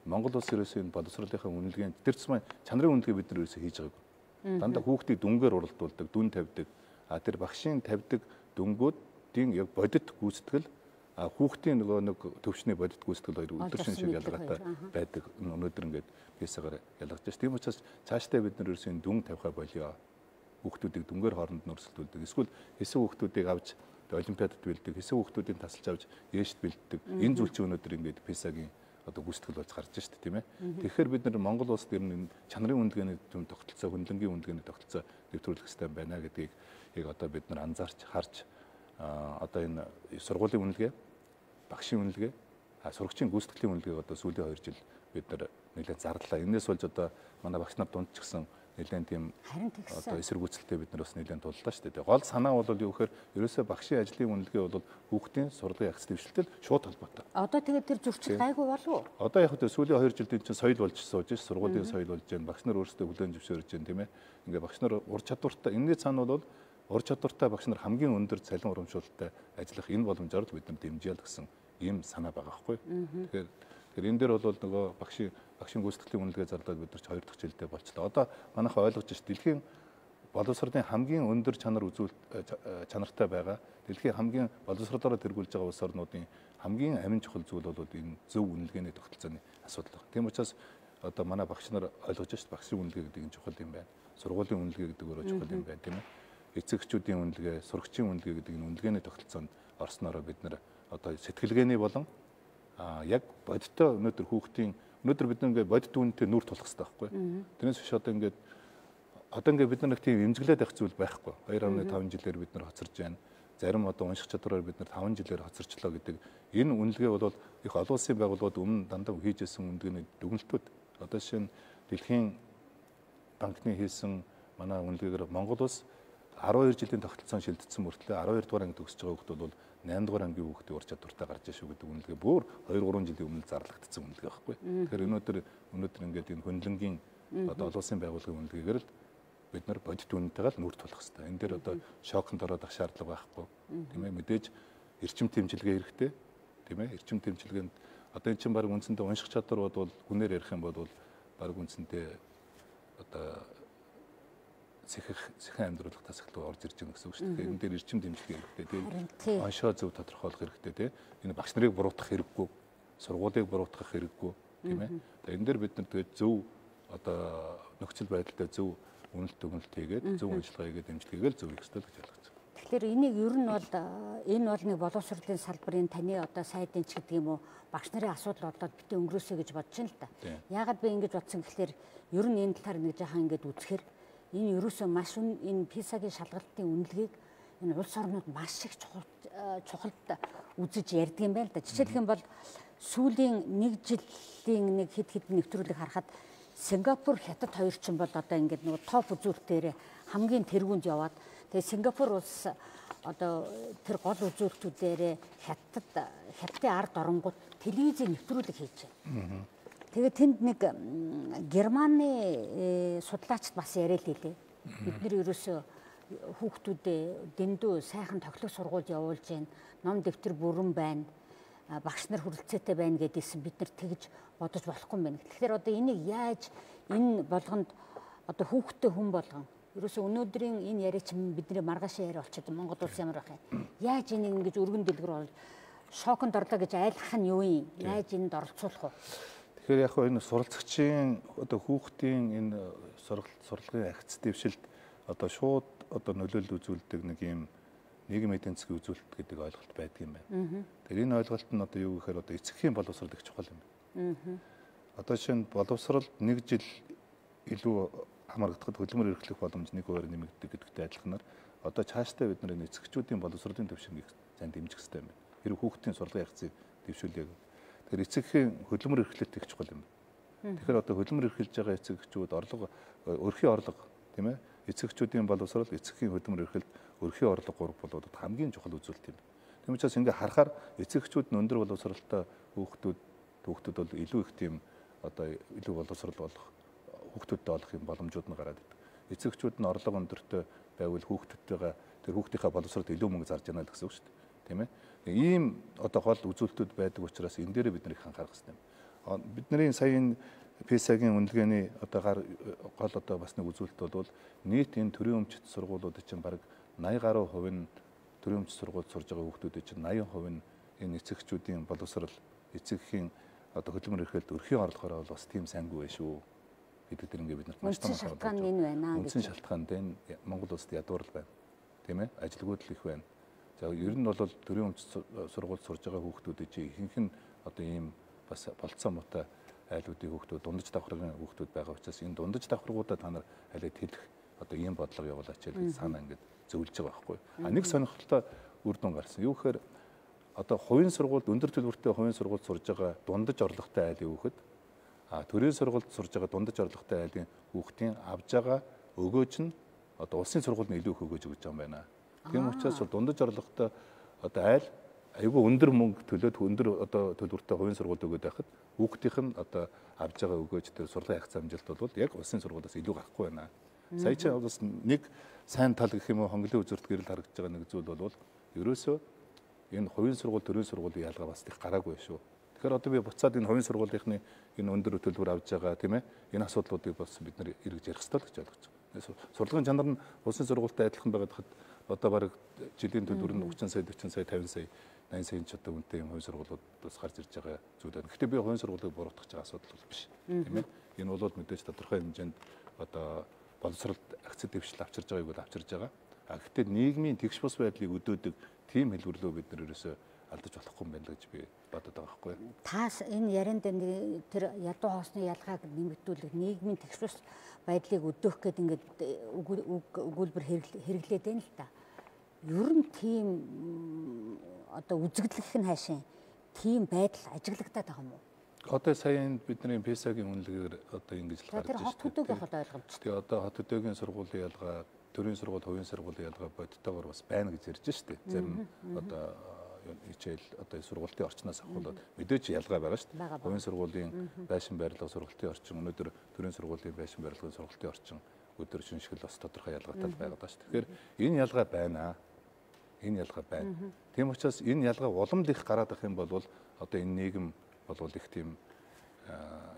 Монгол улс ерөөсөө энэ боловсролынхаа үнэлгээнд тэр цэцмээ чанарын үнэлгээ бид нар ерөөсөө хийж байгаагүй. Дандаа хүүхдийг дүнгээр уралдуулдаг, дүн тавьдаг. А тэр багшийн тавьдаг дүнгуудын яг бодит гүйцэтгэл а хүүхдийн нөгөө нэг төвчний бодит гүйцэтгэл хоёр өдөршин шиг ялгаатай байдаг. Өнөөдөр ингээд пьесагаар ялгаж байна. Тийм учраас цаашдаа бид нар ерөөсөө дүн тавихаа болио. Хүүхдүүдийг дүнгээр хооронд нь өрсөлдүүлдэг. Эсвэл хэсэг хүүхдүүдийг авч олимпиадад бэлддэг, хэсэг хүүхдүүдийн тасалж авч ээшд бэлддэг. Энэ зүйл чинь өнөөдөр ингээд пьесагийн одоо гүйцэтгэл болж гарч байна шүү дээ, тийм ээ. Тэгэхээр бид нар Монгол улсад ер нь чанарын үнэлгээний төв тогтолцоо, хөндлөнгийн үнэлгээний тогтолцоо нэвтрүүлэх хэрэгтэй байна гэдгийг яг одоо бид нар анзаарч харж одоо энэ сургуулийн үнэлгээ, багшийн үнэлгээ, сурагчийн гүйцэтгэлийн үнэлгээг одоо сүүлийн хоёр жил бид нар нэлээд зарлаа. Энээс болж одоо манай багш нар дунд ч гэсэн нэлээд тийм одоо эсэргүүцэлтэй бид нар бас нэлээд туллаа шүү дээ. Гол санаа бол юу гэхээр ерөөсөө багшийн ажлын үнэлгээ бол хүүхдийн сургуулийн агц дэвшилтэд шууд холбоотой. Одоо тэгээд тэр зөрчил гайгүй болов уу? Одоо яг хөтө сүүлийн хоёр жилийн чинь соёл болж сууж ш, сургуулийн соёл болж байна. Багш нар өөрсдөө хүлээн зөвшөөрж байна, тийм ээ. Ингээ багш нар ур чадвартай, энэний цаана бол ур чадвартай багш нар хамгийн өндөр цалин урамшуулалттай ажиллах энэ боломжоор л бид нар дэмжээл гэсэн ийм санаа байгаа байхгүй. Тэгэхээр тэгэхээр энэ дээр бол нөгөө багшийн багшийн гүйцэтгэлийн үнэлгээ зарлаад бид нар ч хоёр дахь жилдээ болчлоо. Одоо манайхаа ойлгож ш дэлхийн боловсролын хамгийн өндөр чанар үзүүлэлт чанартай байгаа. Дэлхийн хамгийн боловсролоор тэргүүлж байгаа улс орнуудын хамгийн амин чухал зүйл бол энэ зөв үнэлгээний тогтолцооны асуудал байна. Тийм учраас одоо манай багш нар ойлгож ш багшийн үнэлгээ гэдэг нь чухал юм байна. Сургуулийн үнэлгээ гэдэг өөрөө чухал юм байна, тийм ээ. Эцэгчүүдийн үнэлгээ, сурагчийн үнэлгээ гэдэг энэ үнэлгээний тогтолцоонд орсноороо бид нар одоо сэтгэлгээний болон а яг бодиттой өнөөдөр хүүхдийн өнөөдөр бид ингээд бодит үнэтэй нүр тулах хэрэгтэй байхгүй. Тэрнээс биш одоо ингээд одоо ингээд бид нар нэг тийм эмзэглээд байх зүйл байхгүй. хоёр амын таван жилээр бид нар хоцорж байна. Зарим одоо унших чадвараар бид нар таван жилээр хоцорчлоо гэдэг энэ үнэлгээ бол их олон улсын байгууллагууд өмнө дандаа хийжсэн үнэлгээний дүгнэлтүүд. Одоо жишээ нь Дэлхийн банкны хийсэн манай үнэлгээгээр Монгол улс арван хоёр жилийн тогтолцоон шилжсэн мөртлөө арван хоёр дугаар анги төгсөж байгаа хүмүүс бол найман дугаар ангийн хүүхдийн ур чадвартай гарч иж шүү гэдэг үнэлгээ бүр хоёр гурван жилийн өмнө зарлагдсан үнэлгээ байхгүй. Тэгэхээр өнөөдөр өнөөдөр ингээд энэ хөндлөнгийн одоо олон улсын байгууллагын үнэлгээгээр л бид нар бодит үнэтэйгээ л нүр тулах хэрэгтэй. Энэ дээр одоо шоконд ороод ах шаардлага байхгүй. Тийм ээ, мэдээж эрчим тэмчилгээ хэрэгтэй. Тийм ээ, эрчим тэмчилгээнд одоо эн чинь баг үндсэндээ унших чадвар бол хүнээр ярих юм бол баг үндсэндээ одоо сэхэх сэхэн амьдруулах тасаглал орж ирж байгаа гэсэн үг шүү дээ. Энэ дээр эрчим дэмжлэг хэрэгтэй тийм. Оншоо зөв тодорхойлох хэрэгтэй тийм. Энэ багш нарыг буруутгах хэрэггүй, сургуулийг буруутгах хэрэггүй тийм ээ. Тэгээ энэ дээр бид нар тэгээд зөв одоо нөхцөл байдалтай зөв үнэлт дүгнэлт хийгээд зөв ажиллагаа хийгээд дэмжлэгийг л зөв хийх хэрэгтэй гэж ойлгож байна. Тэгэхээр энийг ер нь бол энэ бол нэг боловсролын салбарын таны одоо сайдын ч гэдэг юм уу багш нарын асуудал болоод битээ өнгөрөөсэй гэж бодож байна л да. Яагаад би ингэж бодсон гэхээр ер нь энэ талаар нэг жаахан ингэж үзэхээр энэ ерөөсөө маш энэ писагийн шалгалтын үнэлгээг энэ улс орнууд маш их чухалд үзэж ярьдаг юм байна л да. Жишээлх юм бол сүүлийн нэг жилийн нэг хэд хэд нэвтрүүлэг харахад Сингапур, Хятад хоёр ч юм бол одоо ингээд нөгөө топ үзүүлэлтээр хамгийн тэргуунд яваад тэгээ Сингапур улс одоо тэр гол үзүүлэлтүүдээр Хятад Хятадын ард оронгууд телевизийн нэвтрүүлэг хийж байна. Тэгээ тэнд нэг Германы судлаачд бас яриа л хэлээ. Бид нэр ерөөсөө хүүхдүүдээ дэндүү сайхан тоглох сургууль явуулж байна. Ном дэвтэр бүрэн байна. Багш нар хүрэлцээтэй байна гэдээсэн бид нар тэгж бодож болохгүй юм байна. Тэгэхээр одоо энийг яаж энэ болгонд одоо хүүхдтэй хүн болгон ерөөсөө өнөөдрийн энэ яриа чинь бидний маргааш яриа болчиход Монгол улс ямар байх юм. Яаж энийг ингэж өргөн дэлгэр бол шоконд орлоо гэж айлгах нь юу юм? Яаж энд оролцуулах вэ? Тэгэхээр яг энэ суралцагчийн одоо хүүхдийн энэ сурлагын агц дэвшилд одоо шууд одоо нөлөөлөл үзүүлдэг нэг юм нийгмийн эдийн засгийн үзүүлэлт гэдэг ойлголт байдаг юм байна. Тэгэхээр энэ ойлголт нь одоо юу гэхээр одоо эцэгхийн боловсрол их чухал юм байна. Одоо жишээ нь боловсрол нэг жил илүү хамрагдахад хөдөлмөр эрхлэх боломж нэг хувиар нэмэгддэг гэдэгтэй адилханаар одоо цаашдаа бид нар энэ эцэгчүүдийн боловсролын төвшингийг сайн дэмжих хэрэгтэй юм байна. Хэрэг хүүхдийн сурлагын агцыг дэвшүүлээ. Тэгэхээр эцэгхийн хөдөлмөр эрхлэлт их чухал юм. Тэгэхээр одоо хөдөлмөр эрхэлж байгаа эцэгчүүд орлого өрхийн орлого тийм ээ эцэгчүүдийн боловсрол эцэгхийн хөдөлмөр эрхэлт өрхийн орлого гурав болоод хамгийн чухал үзүүлэлт юм. Тийм учраас ингээ харахаар эцэгчүүд нь өндөр боловсролтой хүүхдүүд хүүхдүүд бол илүү их тийм одоо илүү боловсрол болох хүүхдүүдтэй болох юм боломжууд нь гараад идэг. Эцэгчүүд нь орлого өндөртэй байвал хүүхдүүдтэйгээ тэр хүүхдийнхээ боловсролд илүү мөнгө зарж яана гэсэн үг шүү дээ. Тийм ээ. Ийм одоо гол үзүүлэлтүүд байдаг учраас энэ дээр бид нэр их анхаарах хэрэгтэй юм. Бидний саяын ПИСА-гийн үнэлгээний одоо гар гол одоо бас нэг үзүүлэлт бол нийт энэ төрийн өмчит сургуулиуд чинь бараг наяа гаруй хувь нь төрийн өмчит сургуульд сурж байгаа хүүхдүүд чинь наяа хувь нь энэ эцэгчүүдийн боловсрол эцэгхийн одоо хөдөлмөр эрхлэлд өрхийн орлогоор бол бас тийм сайнгүй байх шүү гэдэг тэр ингээ бид нарт маш том шалтгаан энэ байна гэж. Үндсэн шалтгаан энэ Монгол улсад ядуурл байна. Тийм ээ? Ажилгүйдэл их байна. За ер нь бол төрийн өмчит сургуульд сурж байгаа хүүхдүүд чинь ихэнх нь одоо ийм бас болцоо муутай айлуудын хүүхдүүд дундаж давхаргын хүүхдүүд байгаа учраас энэ дундаж давхаргуудаа та нар алид хэлэх одоо ийм бодлого явуулаач гэж санаа ингээд зөвлөж байгаа байхгүй. А нэг сонирхолтой үр дүн гарсан. Юу гэхээр одоо хувийн сургуульд өндөр төлбөртэй хувийн сургуульд сурж байгаа дундаж орлоготой айлын хүүхэд а төрийн сургуульд сурж байгаа дундаж орлоготой айлын хүүхдийн авж байгаа өгөөж нь одоо улсын сургуульд нь илүү их өгөөж өгч байгаа юм байна. Тийм учраас дундаж орлоготой одоо айл айгүй өндөр мөнгө төлөөд өндөр одоо төлбөртэй хувийн сургуульд өгөөд байхад хүүхдийнх нь одоо авж байгаа өгөөж тэр сургуулийн хагас амжилт бол яг улсын сургуулиас илүү гарахгүй байна. Сая чи бас нэг сайн тал гэх юм уу хонглын үзүүрт гэрэл харагдаж байгаа нэг зүйл бол ерөөсөө энэ хувийн сургууль төрийн сургуулийн ялгаа бас их гараагүй шүү. Тэгэхээр одоо би буцаад энэ хувийн сургуулийнхны энэ өндөр төлбөр авж байгаа тийм ээ энэ асуудлуудыг бас бид нар эргэж ярих хэрэгтэй л гэж ойлгож байгаа. Сурлагын чанар нь улсын сургуультай адилхан байгаад хад одоо бараг жилийн төлбөр нь тридцать сая сая quaranta сая eighty сая ч одоо үнэтэй юм хувийн сургуулиудаас гарч ирж байгаа зүйл байна. Гэхдээ би хувийн сургуулийг буруутгах байгаа асуудал бол биш. Тийм ээ. Энэ бол мэдээж тодорхой хэмжээнд одоо боловсролд акцид дэвшил авчирж байгааг бол авчирж байгаа. А гэхдээ нийгмийн тэгш бус байдлыг өдөөдөг тийм хэлбэрлөө бид нар ерөөсөө алдаж болохгүй юм байна гэж би бодод байгаа байхгүй. Таас энэ ярианд тэр ядуу хоосны ялгааг нэмэгдүүлэх нийгмийн тэгш бус байдлыг өдөөх гэдэг ингээд өгүүлбэр хэрэглээд байна л да. Ер нь тийм одоо үзэгдлэх нь хаашийн тийм байдал ажиглагдаад байгаа юм уу? Одоо саяын бидний ПИСА-гийн үнэлгээр одоо ингэж л гарч байна. Тэр хот хөдөөгийн хол ойлгомжтой. Тэгээ одоо хот хөдөөгийн сургуулийн ялгаа, төрийн сургууль, хувийн сургуулийн ялгаа бодтойгоор бас байна гэж ярьж штэ. Зарим одоо хичээл одоо сургуулийн орчноос ахуулаад мэдээч ялгаа байгаа штэ. Хувийн сургуулийн байшин барилга сургуулийн орчин, өнөөдөр төрийн сургуулийн байшин барилгын сургуулийн орчин өдөр шинжлэл бас тодорхой ялгаатай байгаа даа штэ. Тэгэхээр энэ ялгаа байна. Энэ ялгаа байна. Тийм учраас энэ ялгаа уламд их гараад ах юм бол одоо энэ нийгэм болвол их тийм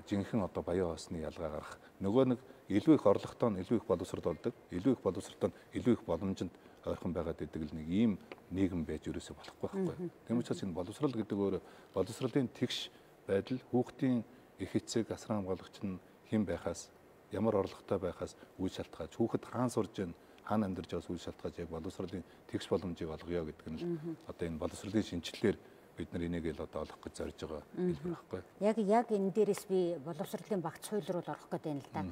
жинхэнэ одоо баян хоосны ялгаа гарах. Нөгөө нэг илүү их орлоготой нь илүү их боловсрол болдог. Илүү их боловсролтой нь илүү их боломжинд ойрхон байгаад идэг л нэг ийм нийгэм байж ерөөсөй болохгүй байхгүй. Тийм учраас энэ боловсрол гэдэг өөр боловсролын тэгш байдал хүүхдийн их эцэг асран хамгаалагч нь хэн байхаас ямар орлоготой байхаас үйл шалтгаалж хүүхэд хаан сурж байна хаана амьдарч байгаас үйл шалтгаалж яг боловсролын тэгш боломжийг олгоё гэдэг нь л одоо энэ боловсролын шинжилгээр бид нар энийг л одоо олох гэж зорж байгаа хэлбэр байхгүй. Яг яг энэ дээрээс би боловсролын багц хууль руу орох гэдэг юм л да.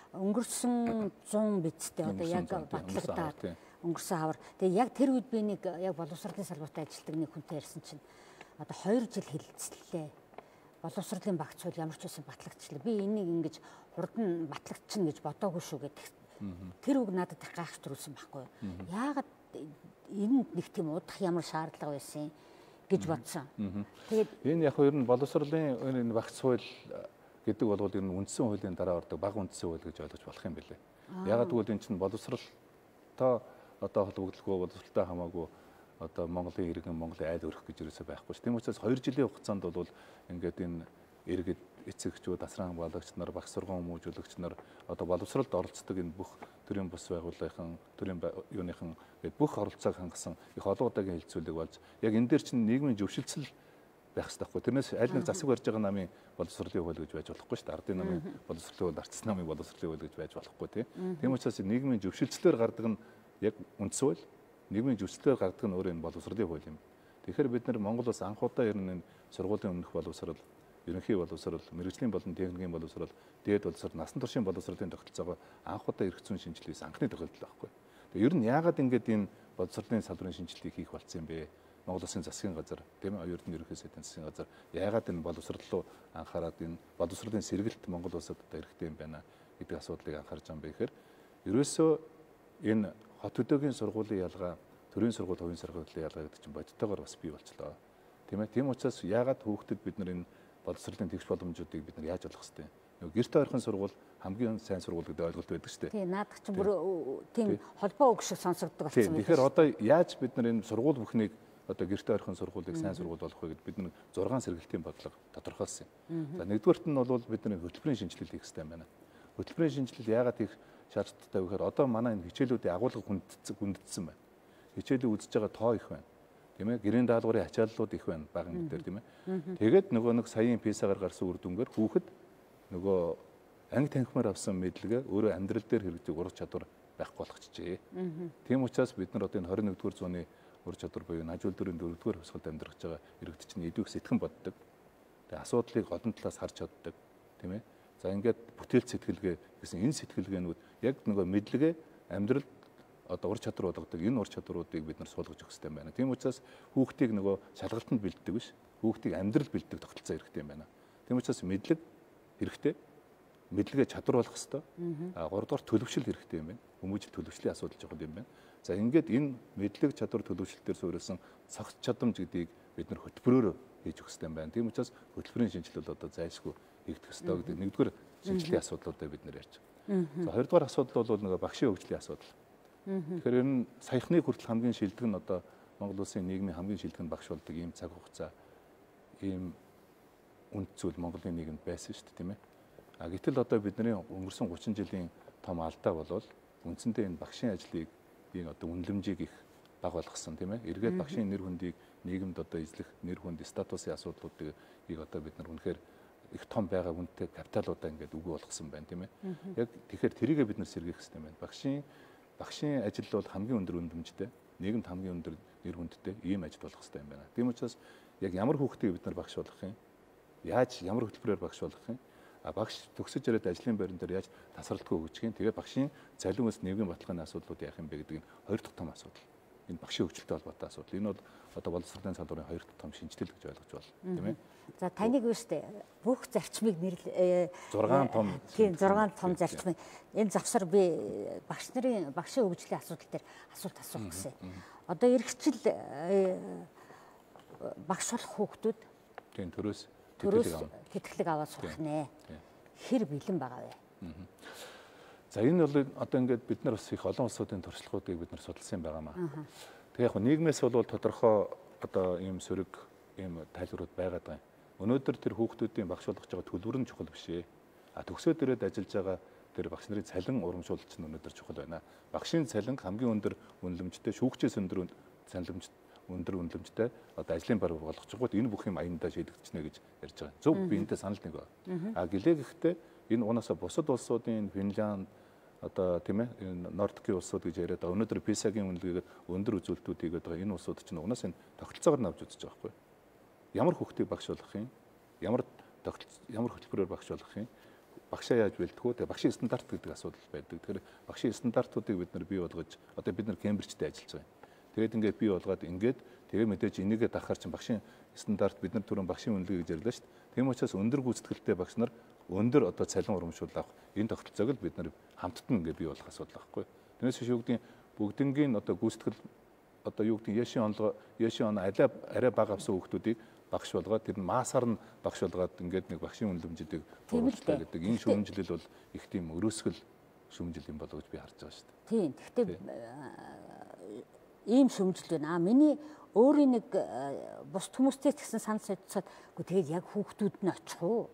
Өнгөрсөн зуун бидтэй одоо яг батлагдаад өнгөрсөн хавар. Тэгээ яг тэр үед би нэг яг боловсролын салбарт ажилладаг нэг хүнтэй ярьсан чинь одоо хоёр жил хэлэлцлээ. Боловсролын багц хууль ямар ч байсан батлагдчихлаа. Би энийг ингэж хурд нь батлагдчихна гэж бодоогүй шүү гэдэг. Тэр үг надад их гайхаж төрүүлсэн байхгүй юу. Яагаад энэ нэг тийм удах ямар шаардлага байсан гэж бодсон. Тэгээд энэ яг ер нь боловсролын энэ багц хууль гэдэг бол ер нь үндсэн хуулийн дараа ордог бага үндсэн хууль гэж ойлгож болох юм билээ. Яагаад гэвэл энэ чинь боловсролтой одоо холбогдлого боловсролтой хамаагүй одоо Монголын иргэн Монголын айл өрөх гэж ерөөсөй байхгүй ш. Тийм учраас хоёр жилийн хугацаанд бол ингээд энэ иргэд эцэгчүүд асран хамгаалагч нар багц сургууль хүмүүжүүлэгч нар одоо боловсролд оролцдог энэ бүх төрийн бус байгууллагын төрийн юуныхан гээд бүх оролцоог хангасан их олон удаагийн хилцүүлэг болж яг энэ дээр чинь нийгмийн зөвшөлтсөл байх хэрэгтэй байхгүй. Тэрнээс аль нэг засаг барьж байгаа намын боловсролын хууль гэж байж болохгүй шүү дээ. Ардын намын боловсролын хууль, арчсан намын боловсролын хууль гэж байж болохгүй тийм учраас нийгмийн зөвшөлтслөөр гардаг нь яг үндсэн хууль, нийгмийн зөвшөлтслөөр гардаг нь өөр энэ боловсролын хууль юм. Тэгэхээр бид нар Монгол улс анх удаа ер нь энэ сургуулийн өмнөх боловсрол, ерөнхий боловсрол, мэрэгжлийн болон техникийн боловсрол, дээд боловсрол, насан туршийн боловсролын тогтолцоогоо анх удаа эрх зүйн шинжилгээс анхны тохиолдол байхгүй. Тэгээ ер нь яагаад ингэж энэ боловсролын салбарын шинжилгээг хийх болсон юм бэ? Монгол Улсын засгийн газар тийм ээ оюутны ерөнхий сайдын засгийн газар яагаад энэ боловсрол руу анхаарад энэ боловсролын сэргэлт Монгол улсад одоо хэрэгтэй юм байна гэдэг асуудлыг анхаарч байгаа юм бэ гэхээр ерөөсөө энэ хот хөдөөгийн сургуулийн ялгаа, төрийн сургууль, хувийн сургуулийн ялгаа гэдэг чинь бодиттойгоор бас бий болчлоо. Тийм ээ. Тийм учраас яагаад хүүхдэд бид нар энэ боловсролын тэгш боломжуудыг бид нар яаж олох хэвтэй. Нөгөө гэрте ойрхон сургууль хамгийн сайн сургууль гэдэг ойлголт байдаг шүү дээ. Тийм, наадах чинь бүр тийм холбоо үг шиг сонсогддог болсон байна. Тэгэхээр одоо яаж бид нар энэ сургууль бүхнийг одоо гэрте ойрхон сургуулийг сайн сургууль болох вэ гэдээ бид нар зургаан сэргэлтийн бодлого тодорхойлсон юм. За нэгдүгээрт нь бол бидний хөтөлбөрийн шинжилэл хийх хэрэгтэй байна. Хөтөлбөрийн шинжилэл яагаад их шаардлагатай вэ гэхээр одоо манай энэ хичээлүүдийн агуулга хүндэтсэн байна. Хичээлийг үзэж байгаа тоо их байна. Тийм ээ, гэрийн даалгаврын ачааллууд их байна баган дээр тийм ээ. Тэгээд нөгөө нэг саяын писагаар гарсан үр дүнгээр хүүхэд нөгөө анги танхимаар авсан мэдлэгээ өөрөө амьдрал дээр хэрэгжих ур чадвар байхгүй болгочихжээ. Тийм учраас бид нар одоо энэ хорин нэгдүгээр зууны ур чадвар буюу нажуул дөрвийн дөрөвдүгээр хувьсгалд амьдрах байгаа иргэд чинь идэвх сэтгэн боддог. Тэгээ асуудлыг олон талаас харж чаддаг, тийм ээ. За ингээд бүтээлч сэтгэлгээ гэсэн энэ сэтгэлгээнүүд яг нөгөө мэдлэгээ амьдрал одоо ур чадвар болгодог энэ ур чадваруудыг бид нар суулгаж өгөх хэрэгтэй байна. Тийм учраас хүүхдийг нөгөө шалгалтанд бэлддэг биш, хүүхдийг амьдрал бэлддэг тогтолцоо хэрэгтэй юм байна. Тийм учраас мэдлэг хэрэгтэй, мэдлэгээ чадвар болох хэрэгтэй. А гуравдугаар төлөвшил хэрэгтэй юм байна. Хүмүүжил төлөвшлийн асуудал жоход юм байна. За ингээд энэ мэдлэг чадвар төлөвшлөлтөөр суурилсан цогц чадамж гэдгийг бид нар хөтөлбөрөөр хийж өгөх хэрэгтэй юм байна. Тийм учраас хөтөлбөрийн шинжилэл одоо зайлшгүй хийгдэх хэрэгтэй гэдэг нэгдүгээр шинжилгээний асуудлуудыг бид нар ярьж байгаа. За хоёрдугаар асуудал бол нөгөө багшийн хөгжлийн асуудал. Тэгэхээр ер нь саяхны хүртэл хамгийн шилдэг нь одоо Монгол Улсын нийгмийн хамгийн шилдэг нь багш болдог ийм цаг хугацаа, ийм үнд зүйл Монголын нийгэмд байсан шүү дээ, тийм ээ. А гэтэл одоо бидний өнгөрсөн гучин жилийн том алдаа болвол үндсэндээ энэ багшийн ажлыг ийм одоо үнэлэмжийг их бага болгосон, тийм ээ. Эргээд багшийн нэр хүндийг нийгэмд одоо эзлэх нэр хүнд статусын асуудлуудыг одоо бид нар үнэхээр их том байгаа үнэтэй капиталуудаа ингээд үгүй болгосон байна, тийм ээ. Яг тэгэхээр тэрийгээ бид нар сэргээх хэрэгтэй байна. Багшийн багшийн ажил бол хамгийн өндөр үнэлэмжтэй, нийгэмд хамгийн өндөр нэр хүндтэй ийм ажил болох хэрэгтэй юм байна. Тийм учраас яг ямар хүүхдийг бид нар багш болгох юм? Яаж ямар хөтөлбөрөөр багш болгох юм? А багш төгсөж ирээд ажлын байран дээр яаж тасралтгүй өгчих юм? Тэгээ багшийн цалин өс нийгмийн баталгааны асуудлууд яах юм бэ гэдэг нь хоёр дахь том асуудал. Энэ багшийн хөгжилтэй холбоотой асуудал. Энэ бол одоо боловсролын салбарын хоёр дахь том шинжилэл гэж ойлгож байна, тийм ээ. За таныг үүштэй бүх зарчмыг нэрлээ зургаан том тийм зургаан том зарчмыг энэ завсар би багш нарын багшийн хөгжлийн асуудал дээр асуулт асуух гэсэн. Одоо эргэжил багш болох хүүхдүүд тийм төрөөс төрөөс тэтгэлэг аваад сурах нэ. Хэр бэлэн байгаа вэ? За энэ бол одоо ингээд бид нар бас их олон улсуудын туршлагуудыг бид нар судалсан байгаамаа. Тэгээ яг нийгмээс бол тодорхой одоо ийм сөрөг ийм тайлбарууд байгаад байгаа юм. Өнөөдөр тэр хүүхдүүдийн багш болгож байгаа төлбөр нь чухал биш ээ. А төгсөөд ирээд ажиллаж байгаа тэр багш нарын цалин урамшуулалт нь өнөөдөр чухал байна. Багшийн цалин хамгийн өндөр үнэлэмжтэй, шүүгчээс өндөр цалинж өндөр үнэлэмжтэй одоо ажлын бар болгож байгаа. Энэ бүх юм аяндаа шийдэгдчихнэ гэж ярьж байгаа. Зөв би энэтэй санал нэг байна. А гэлээ гэхдээ энэ унаасаа бусад улсуудын Финланд одоо тийм ээ Нордикийн улсууд гэж яриад байгаа. Өнөөдөр писагийн үнэлгээгээр өндөр үзүүлэлтүүд хийгээд байгаа энэ улсууд чинь унаасаа энэ тогтолцоогоор навж үзэж байгаа байхгүй. Ямар хүүхдийг багш болгох юм? Ямар ямар хөтөлбөрөөр багш болгох юм? Багшаа яаж бэлдэх вэ? Тэгээ багшийн стандарт гэдэг асуудал байдаг. Тэгэхээр багшийн стандартуудыг бид нар бий болгож одоо бид нар Кембрижтэй ажиллаж байгаа юм. Тэгээд ингээд бий болгоод ингээд тэгээ мэдээж энийгээ дахаар чинь багшийн стандарт бид нар түрүүн багшийн үнэлгээ гэж ярьлаа шүү дээ. Тийм учраас өндөр гүйцэтгэлтэй багш нар өндөр одоо цалин урамшуул авах энэ тогтолцоог л бид нар хамттан ингээд бий болох асуудал байхгүй. Тэрнээс биш юу гэдэг бүгднгийн одоо гүйцэтгэл одоо юу гэдэг яшин онлого яшин он арай арай бага авсан хүүхдүүдийг багш болгоод тэр нь маасаар нь багш болгоод ингээд нэг багшийн үнэлэмжүүдийг бууруулах гэдэг энэ шүүмжлэл бол их тийм өрөөсгөл шүүмжил юм болоо гэж би харж байгаа шүү дээ. Тийм. Гэхдээ ийм шүүмжил байна. А миний өөрийн нэг бус хүмүүстэй ч гэсэн санал солилцоод үгүй тэгээд яг хүүхдүүд нь очих уу?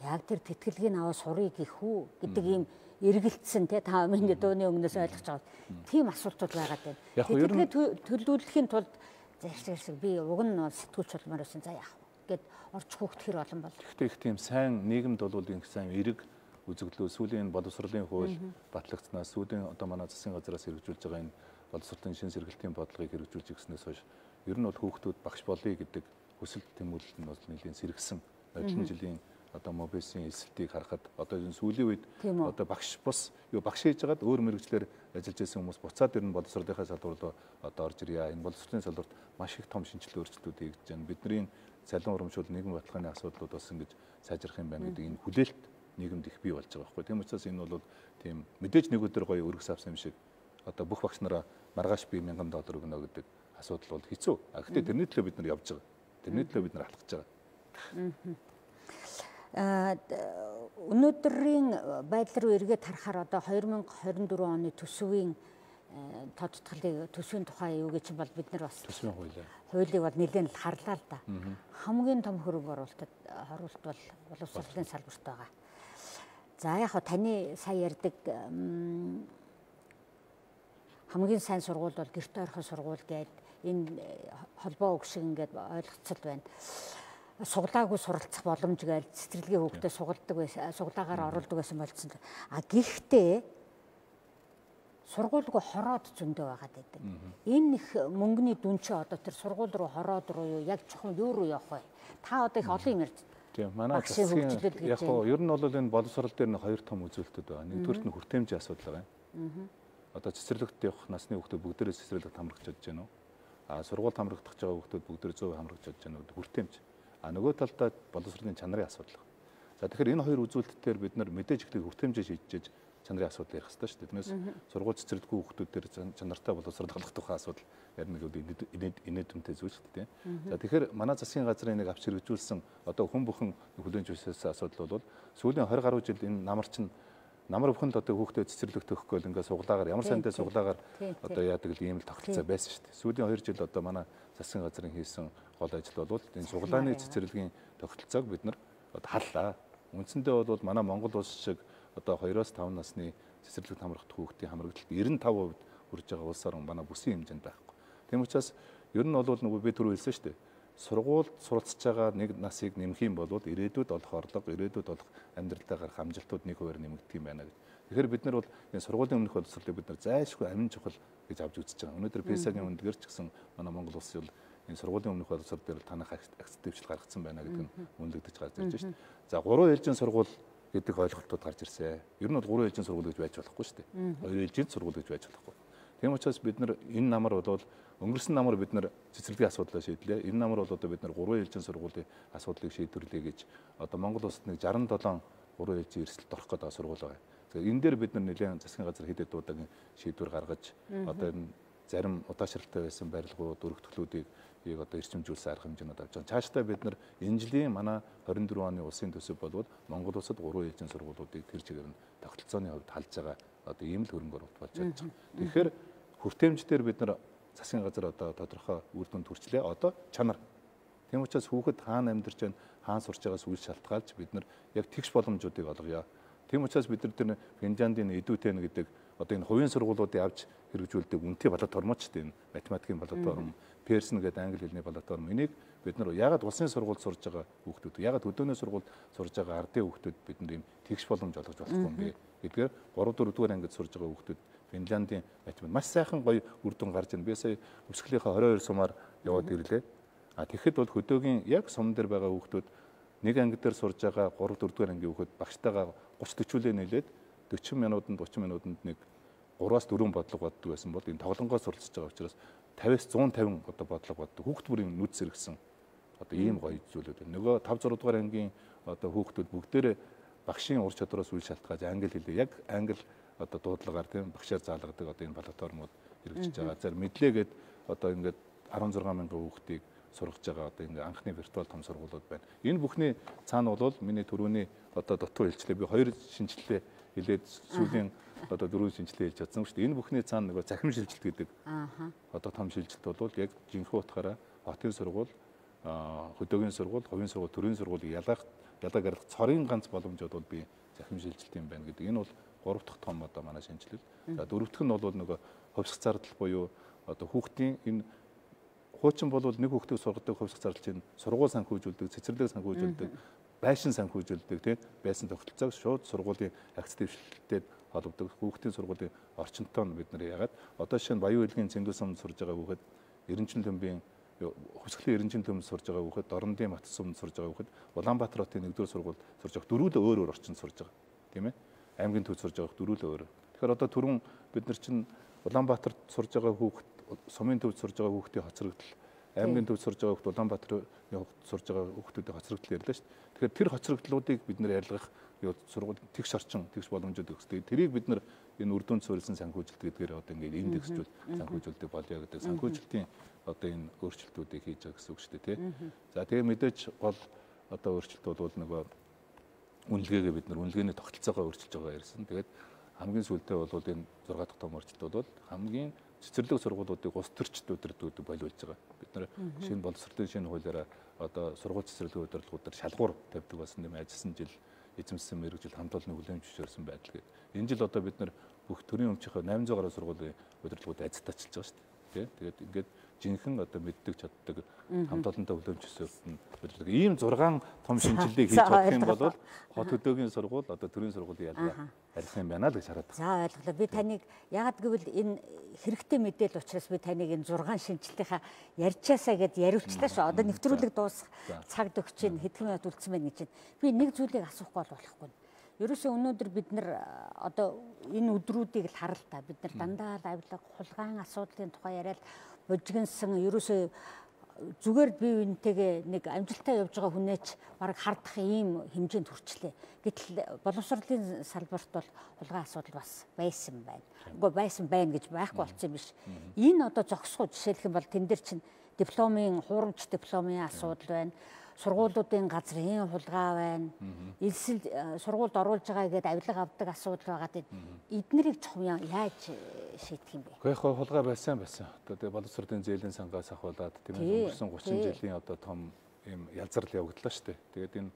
Яг тэр тэтгэлгийг аваад сурыг гэх үү гэдэг ийм эргэлтсэн те та миний дууны өмнөөс ойлгож байгаа. Тийм асуултууд байгаад байна. Тэтгэлгээ төлөвлөхийн тулд зайлшгүй би уг нь сэтгүүлч болмоор байсан за яах гэд орчих хүүхд хэр олон бол. Гэхдээ их тийм сайн нийгэмд бол их сайн эрэг үзэгдлөө сүүлийн боловсролын хууль батлагдсанаас сүүлийн одоо манай засгийн газраас хэрэгжүүлж байгаа энэ боловсролын шин сэргэлтийн бодлогыг хэрэгжүүлж ирснээс хойш ер нь бол хүүхдүүд багш болъё гэдэг хүсэл тэмүүлэл нь бол нэлийн сэргсэн. Нодлон жилийн одоо мобисын эсэлтийг харахад одоо энэ сүүлийн үед Тийм үү? одоо багш бус юу багш хийж байгаад өөр мэрэгчлэр ажиллаж байсан хүмүүс буцаад ирнэ боловсролынхаа салбар руу одоо орж ирье. Энэ боловсролын салбарт маш их том шинжилгээ өөрчлөлтүүд хийгдэж байна. Бидний цалин урамшуул нийгэм баталгааны асуудлууд бас ингэж сайжрах юм байна гэдэг энэ хүлээлт нийгэмд их бий болж байгаа байхгүй. Тийм учраас энэ бол тийм мэдээж нэг өдөр гоё өргөс авсан юм шиг одоо бүх багш нараа маргааш би мянган доллар өгнө гэдэг асуудал бол хэцүү. А гэхдээ тэрний төлөө бид нар явж байгаа. Тэрний төлөө бид нар алхаж байгаа. Аа өнөөдрийн байдал руу эргээд харахаар одоо хоёр мянга хорин дөрвөн оны төсвийн тодтголыг төсвийн тухай юу гэж бол бид нар бас төсвийн хуулийг хуулийг бол нэлээд л харлаа л да. Хамгийн том хөрөнгө оруулалт оруулалт бол боловсролын салбарт байгаа. За яг хаа таны сая ярьдаг хамгийн сайн сургууль бол гэрте орхон сургууль гэдэг энэ холбоо үг шиг ингээд ойлгоцол байна. Суглаагүй суралцах боломж гээл цэцэрлэгийн хүүхдэд сугалдаг байсан, суглаагаар оруулдаг байсан болцсон. А гэхдээ сургуульгүй хороод зөндөө байгаад байдаг. Энэ их мөнгөний дүн чи одоо тэр сургууль руу хороод руу юу яг чухам юу руу явах вэ? Та одоо их олон юм ярьж. Тийм манай засгийн яг хоо ер нь бол энэ боловсрол дээр нэг хоёр том үзүүлэлтүүд байна. Нэгдүгürt нь хүртээмжийн асуудал байна. Одоо цэцэрлэгт явах насны хүүхдүүд бүгдээрээ цэцэрлэгт хамрагч чадж байна уу? А сургууль хамрагдах байгаа хүүхдүүд бүгдээр зөв хамрагч чадж байна уу? Хүртээмж. А нөгөө талдаа боловсролын чанарын асуудал. За тэгэхээр энэ хоёр үзүүлэлтээр бид нар мэдээж ихтэй хүртээмжээ шийдэж чанарын асуудал ярих хэрэгтэй шүү дээ. Тэрнээс сургууль цэцэрлэггүй хүүхдүүдээр чанартай боловсрол хангах тухай асуудал ярина гэдэг инээдмтэй зүйл шүү дээ. За тэгэхээр манай засгийн газрын нэг авч хэрэгжүүлсэн одоо хүн бүхэн хүлээн зөвшөөрсөн асуудал бол сүүлийн двадцать гаруй жил энэ намар чинь намар бүхэнд одоо хүүхдэд цэцэрлэгт өгөхгүй л ингээд суглаагаар ямар сантай суглаагаар одоо яадаг л ийм л тогтолцоо байсан шүү дээ. Сүүлийн хоёр жил одоо манай засгийн газрын хийсэн гол ажил бол энэ суглааны цэцэрлэгийн тогтолцоог бид нар одоо халлаа. Үндсэндээ бол манай Монгол улс шиг одоо хоёроос таван насны цэцэрлэгт хамрах хүүхдийн хамрагдлалт девяносто пять процент хүрж байгаа улсаар манай бүсийн хэмжээнд байхгүй. Тийм учраас ер нь бол нөгөө би түрүү хэлсэн шүү дээ. Сургуульд суралцж байгаа нэг насыг нэмэх юм бол ирээдүйд олох орлого, ирээдүйд олох амьдралдаа гарах амжилтууд нэг хувиар нэмэгдэх юм байна гэж. Тэгэхээр бид нар бол энэ сургуулийн өмнөх боловсролыг бид нар зайлшгүй амин чухал гэж авч үзэж байгаа. Өнөөдөр писагийн үндгээр ч гэсэн манай Монгол улс бол энэ сургуулийн өмнөх боловсрол дээр танах акцептивчл гаргацсан байна гэдэг нь үнэлэгдэж гарч ирж байна шүү дээ. За гурван ээлжийн сургууль гэдэг ойлголтууд гарч ирсэн. Ер нь бол гурван ээлжийн сургууль гэж байж болохгүй шүү дээ. Хоёр ээлжийн сургууль гэж байж болохгүй. Тийм учраас бид нар энэ намар бол өнгөрсөн намар бид нар цэцэрлэгийн асуудлаа шийдлээ. Энэ намар бол одоо бид нар гурван ээлжийн сургуулийн асуудлыг шийдвэрлэе гэж одоо Монгол улсад нэг шестьдесят seven гурван ээлжийн эрсдэлд орох гэдэг сургууль байгаа. Тэгэхээр энэ дээр бид нар нэлээд засгийн газар хэд хэд удаагийн шийдвэр гаргаж одоо энэ зарим удаашралтай байсан барилгууд, өргөтгөлүүдийг ийг одоо эрчимжүүлсэн арга хэмжээнүүд авч байгаа. Цаашдаа бид нар энэ жилийн манай двадцать four оны улсын төсөв болвол Монгол улсад гурван ээлжийн сургуулиудыг тэр чигээр нь тогтолцооны хувьд халж байгаа одоо ийм л хөрөнгө оруулалт болж байгаа. Тэгэхээр хүртээмжээр бид нар засгийн газар одоо тодорхой үр дүнд хүрчлээ. Одоо чанар. Тийм учраас хүүхэд хаана амьдарч байна, хаана сурч байгаас үйл шалтгаалж бид нар яг тэгш боломжуудыг олгоё. Тийм учраас бид нар тэр Финляндийн эдүүтэн гэдэг одоо энэ хувийн сургуулиудыг авч хэрэгжүүлдэг үнэтэй платформ ч тийм математикийн платформ, Pearson гэдэг англи хэлний платформ. Энийг бид нар ягаад улсын сургуульд сурж байгаа хүүхдүүд, ягаад хөдөөний сургуульд сурж байгаа ардын хүүхдүүд бид нар ийм тэгш боломж олгож болохгүй юм бэ гэдгээр три дөрөв дугаар ангид сурж байгаа хүүхдүүд Финляндийн математик маш сайхан гоё үр дүн гарч ирнэ. Би сая өвсгөлийнхаа twenty-two сумаар яваад ирлээ. А тэгэхэд бол хөдөөгийн яг сум дээр байгаа хүүхдүүд нэг анги дээр сурж байгаа three four дугаар ангийн хүүхэд багштайгаа thirty forty нийлээд forty минутанд thirty минутанд нэг three-аас four бодлого боддог байсан бол энэ тоглонгоос суралцж байгаа учраас fifty-аас one fifty одоо бодлого боддог. Хүүхд бүрийн нүд сэргсэн одоо ийм гоё зүйлүүд байна. Нөгөө five six дугаар ангийн одоо хүүхдүүд бүгдээрээ багшийн ур чадвараас үйл шалтгаалж англи хэлээ яг англи одоо дуудлагаар тийм багшаар заалгадаг одоо энэ платформуд хэрэгжиж байгаа. За мэдлээгээд одоо ингээд sixteen мянган хүүхдийг сургаж байгаа одоо энэ анхны виртуал том сургуулиуд байна. Энэ бүхний цаана бол миний түрүүний одоо дутуу хэлчлээ. Би хоёр шинжилгээ хэлээд сүүлийн одоо дөрвөн шинжилгээ хэлж чадсан шүү дээ. Энэ бүхний цаана нөгөө захим шилжилт гэдэг. Аа. Одоо том шилжилт бол яг жинхэнэ утгаараа хотын сургууль, хөдөөгийн сургууль, хувийн сургууль, төрийн сургуулийг ялгах, ялгаа гаргах цорын ганц боломжууд бол би захим шилжилт юм байна гэдэг. Энэ бол гурав дахь том одоо манай шинжилэл. За дөрөв дэх нь бол нөгөө хувьсах зардал буюу одоо хүүхдийн энэ хуучин бол нэг хүүхдийг сургадаг хувьсах зардал чинь сургууль санхүүжүүлдэг, цэцэрлэг санхүүжүүлдэг, байшин санхүүжүүлдэг тийм байсан тогтолцоог шууд сургуулийн акц дэвшлэлтэд холбогддог. Хүүхдийн сургуулийн орчинтой нь бид нар яагаад одоо жишээ нь Баян Хөлгийн Цэнгэл сумд сурж байгаа хүүхэд Эренчин төмбийн Хувьсгалын эренчийн төмөнд сурж байгаа хүүхэд, Дорнодын Матс суманд сурж байгаа хүүхэд, Улаанбаатар хотын нэгдүгээр сургуульд сурж байгаа дөрвөлөө өөр өөр орчинд сурж байгаа. Тийм ээ? Аймгийн төвд сурж байгаа дөрвөлөө өөр. Тэгэхээр одоо түрүүн бид нар чинь Улаанбаатарт сурж байгаа хүүхэд, сумын төвд сурж байгаа хүүхдийн хоцрогдол, аймгийн төвд сурж байгаа хүүхэд, Улаанбаатарын хүүхэд сурж байгаа хүүхдүүдийн хоцрогдол ярьлаа шүү дээ. Тэгэхээр тэр хоцрогдлуудыг бид нар ярилгах сургууль тэгш орчин, тэгш боломжууд өгсдөг. Тэрийг бид нар энэ үр дүнд суурилсан санхүүжилт гэдгээр одоо ингээд индексжүүл санхүүжилтийг болё гэдэг. Санхүүжилтийн одоо энэ өөрчлөлтүүдийг хийж байгаа гэсэн үг шүү дээ, тий. За тэгээ мэдээж гол одоо өөрчлөлт бол нөгөө үнэлгээгээ бид нар үнэлгээний тогтолцоогоо өөрчилж байгаа ярьсан. Тэгээд хамгийн сүүлдээ бол энэ зураг дахь том өөрчлөлт бол хамгийн цэцэрлэг сургуулиудыг улс төрчид удирддаг боловлж байгаа. Бид нар шинэ боловсролын шинэ хуулиараа одоо сургууль цэцэрлэгийн удирдлагуудаар шалгуур тавьдаг болсон юм ажилласан жил эзэмсэн мэрэгжил хамт олонны хүлээмж зөвшөөрсөн байдал. Энэ жил одоо бид нар бүх төрийн өмчийнхөө найман зуун гаруй сургуулийн удирдлагууд ажиттаачилж байгаа шүү дээ. Тэгээд ингээд жинхэнэ одоо мэддэг чаддаг хамт олонтой хүлээмж зөвшөөрсөн удирдлага. Ийм зургаан том шинжилгээг хийж чадах юм бол хот хөдөөгийн сургууль одоо төрийн сургуулийн ялгаа арих юм байна л гэж хараад байна. За ойлголоо. Би таныг яагаад гэвэл энэ хэрэгтэй мэдээлэл учраас би таныг энэ зургаан шинжилгээнийхаа ярьчаасаа гэд яриулчлаа шүү. Одоо нэвтрүүлэг дуусах цагт өгч чинь хэдхэн минут үлдсэн байна гэж байна. Би нэг зүйлийг асуухгүй болохгүй. Ерөөсөө өнөөдөр бид нар одоо энэ өдрүүдийг л харал та. Бид нар дандаа л авилга, хулгайн асуудлын тухай яриад бужигнсан ерөөсөө зүгээр бие биентэйгээ нэг амжилтаа явж байгаа хүнээч бараг хардах ийм хэмжээнд хүрчлээ. Гэтэл боловсролын салбарт бол хулгай асуудал бас байсан байна. Үгүй байсан байна гэж байхгүй болсон юм биш. Энэ одоо зогсгоо жишээлх юм бол тэн дээр чинь дипломын хуурамч дипломын асуудал байна. Сургуулиудын газрын хулгай байна. Элсэл сургуульд оруулж байгаа гэдээ авилга авдаг асуудал байгаа гэдэг. Эднэрийг чухам яаж шийдэх юм бэ? Гэхдээ яг хулгай байсан байсан. Одоо тэгээ боловсролын зээлийн сангаас ахуулаад тийм ээ өнгөрсөн гучин жилийн одоо том ийм ялзарл явагдлаа шүү дээ. Тэгээд энэ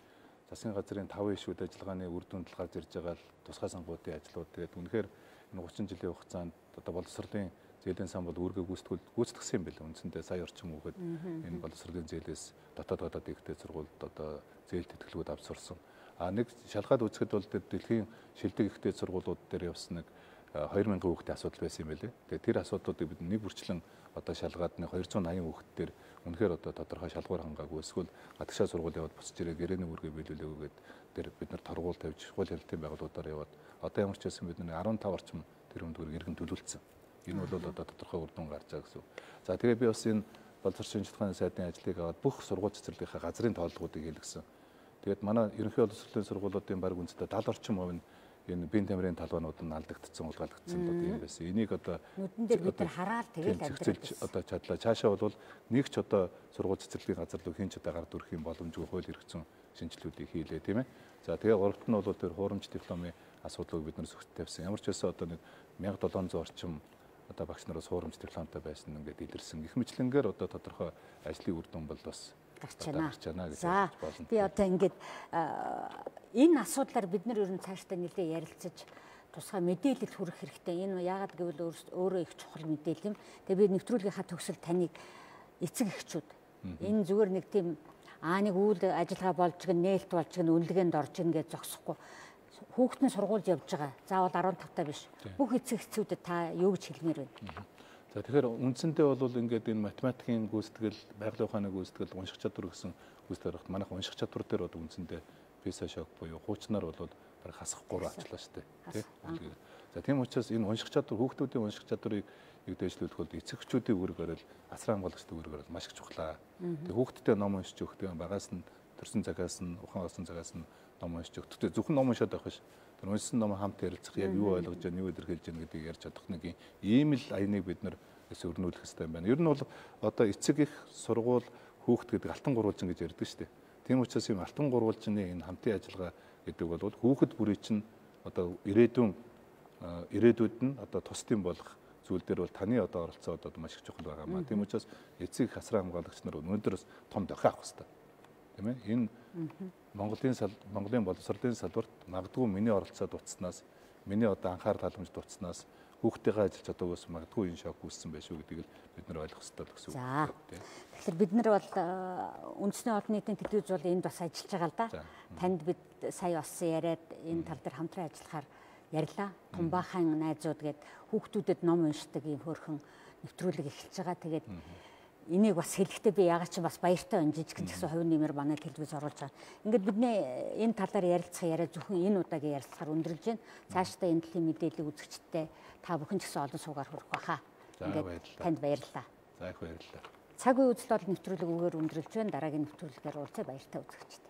засгийн газрын таван ишүүд ажиллагааны үр дүнд гарч ирж байгаа л тусгай сангуудын ажлууд тэгээд үнэхээр энэ гучин жилийн хугацаанд одоо боловсролын зээлийн сан бол үүргээ гүйцэтгэл гүйцэтгсэн юм байна. Үндсэндээ сая орчим хүүхэд энэ боловсролын зээлээс дотоод гадаад ихтэй сургуульд одоо зээл тэтгэлгүүд авч сурсан. А нэг шалгаад үзэхэд бол дэлхийн шилдэг ихтэй сургуулиуд дээр явсан нэг хоёр мянган хүүхдийн асуудал байсан юм байлээ. Тэгээд тэр асуудлуудыг бид нэг бүрчлэн одоо шалгаад нэг хоёр зуун аян хүүхдээр үнэхээр одоо тодорхой шалгуур хангаагүй эсвэл гадагшаа сургууль яваад босч ирээ гэрээний үүргээ биелүүлээгүй гэдэг тэр бид нар торгуул тавьж хууль хэлтийн байгууллагуудаар яваад одоо ямар ч байсан бид нар арван таван орчим тэр хүндгээр иргэн төлөвлөсөн. Энэ бол одоо тодорхой үр дүн гарч байгаа гэсэн. За тэгээ би бас энэ боловсролын шинжилгээний сайдын ажлыг аваад бүх сургууль цэцэрлэгийнхаа газрын тооллогуудыг хийлгэсэн. Тэгээд манай ерөнхий боловсролын сургуулиудын баг үндэстэн даал орчим хувь нь энэ бие тамирын талбайнууд нь алдагдсан, улгаалагдсан одоо тийм байсан. Энийг одоо нүдэн дээр бид нар хараад тэгээд амьдрал одоо чадлаа. Цаашаа бол нэг ч одоо сургууль цэцэрлэгийн газар руу хинч одоо гард өрөх юм боломжгүй хууль хэрэгцсэн шинжилгэүүдийг хийлээ тийм ээ. За тэгээ гуравт нь бол тэр хуурамч дипломын асуудлыг бид нар зөвхөн тавьсан. Ямар ч байсан одоо нэг мянга долоон зуун орчим одоо багш нараас хуурамч дипломтой байсан ингээд илэрсэн. Их мэтлэнгээр одоо тодорхой ажлын үр дүн бол бас гарч байна гэж болно. Би одоо ингээд энэ асуудлаар бид нар ер нь цаашдаа нэлээ ярилцаж тусгай мэдээлэл хүргэх хэрэгтэй. Энэ яагаад гэвэл өөрөө их чухал мэдээлэл юм. Тэгээ би нэвтрүүлгийнхаа төгсөл таныг эцэг эхчүүд энэ зүгээр нэг тийм аа нэг үйл ажиллагаа болж гэн нээлт болж гэн үнэлгээнд орж ингээд зогсохгүй хүүхдийн сургуульд явж байгаа. Заавал арван тавтай биш. Бүх эцэг эхчүүдэд та юу гэж хэлмээр байна? За тэгэхээр үндсэндээ бол ингээд энэ математикийн гүйцэтгэл, байгалийн ухааны гүйцэтгэл, унших чадвар гэсэн гүйцэтгэл гарахт манайх унших чадвар дээр одоо үндсэндээ PISA шок буюу хуучнаар бол бараг хасахгүй ачлаа шүү дээ. Тий. За тийм учраас энэ унших чадвар хүүхдүүдийн унших чадварыг нэг дэвшлүүлэх бол эцэг эхчүүдийн үүргээр л асран хамгаалагчдын үүргээр л маш их чухлаа. Тэгээ хүүхдтэй ном уншиж өгөх тийм багаас нь төрсэн цагаас нь ухаан олсон цагаас нь ном уншиж өгөх. Тэгтээ зөвхөн ном уншаад байх биш. Тэр уншсан ном хамт ярилцах, яг юу ойлгож байна, юу илэрхийлж байна гэдгийг ярьж чадах нэг ийм л аяныг бид нар өрнүүлэх хэрэгтэй юм байна. Ер нь бол одоо эцэг их сургууль хүүхд гэдэг алтан гурвалжин гэж ярьдаг шүү дээ. Тийм учраас юм алтан гурвалжины энэ хамтын ажиллагаа гэдэг бол хүүхэд бүрий чинь одоо ирээдүйн ирээдүйд нь одоо тусдын болох зүйл дээр бол таны одоо оролцоо одоо маш их чухал байгаа маа. Тийм учраас эцэг их асран хамгаалагч нар өнөөдрөөс том дохио авах хэрэгтэй. Тийм ээ. Энэ Монголын Монголын боловсролын салбарт магадгүй миний оролцоо дуцснаас, миний одоо анхаарал халамж дуцснаас хүүхдтэйгээ ажиллаж чадаагаас магадгүй энэ шок үүссэн байх шүү гэдгийг бид нар ойлгох хэрэгтэй л гэсэн үг. За. Тэгэхээр бид нар бол үндэсний олон нийтийн телевиз бол энд бас ажиллаж байгаа л да. Танд бид сая бас яриад энэ тал дээр хамтран ажиллахаар ярьлаа. Тумбаахан найзууд гээд хүүхдүүдэд ном уншдаг ийм хөөрхөн нэвтрүүлэг эхэлж байгаа. Тэгээд энийг бас хэлэхдээ би ягаад ч бас баяртай байна. Жижигхэн ч гэсэн хувь нэмэр манай телевиз оруулж байгаа. Ингээд бидний энэ талаар ярилцах яриа зөвхөн энэ удаагийн ярилцахаар өндөрлж байна. Цаашдаа энэ талын мэдээллийг үзэгчтэй та бүхэн ч гэсэн олон суугаар хүрэх баха. Ингээд танд баярлалаа. За их баярлалаа. Цаг үе үзэл бол нэвтрүүлэг үгээр өндөрлж байна. Дараагийн нэвтрүүлгээр уулзъя, баяртай үзэгчтэй.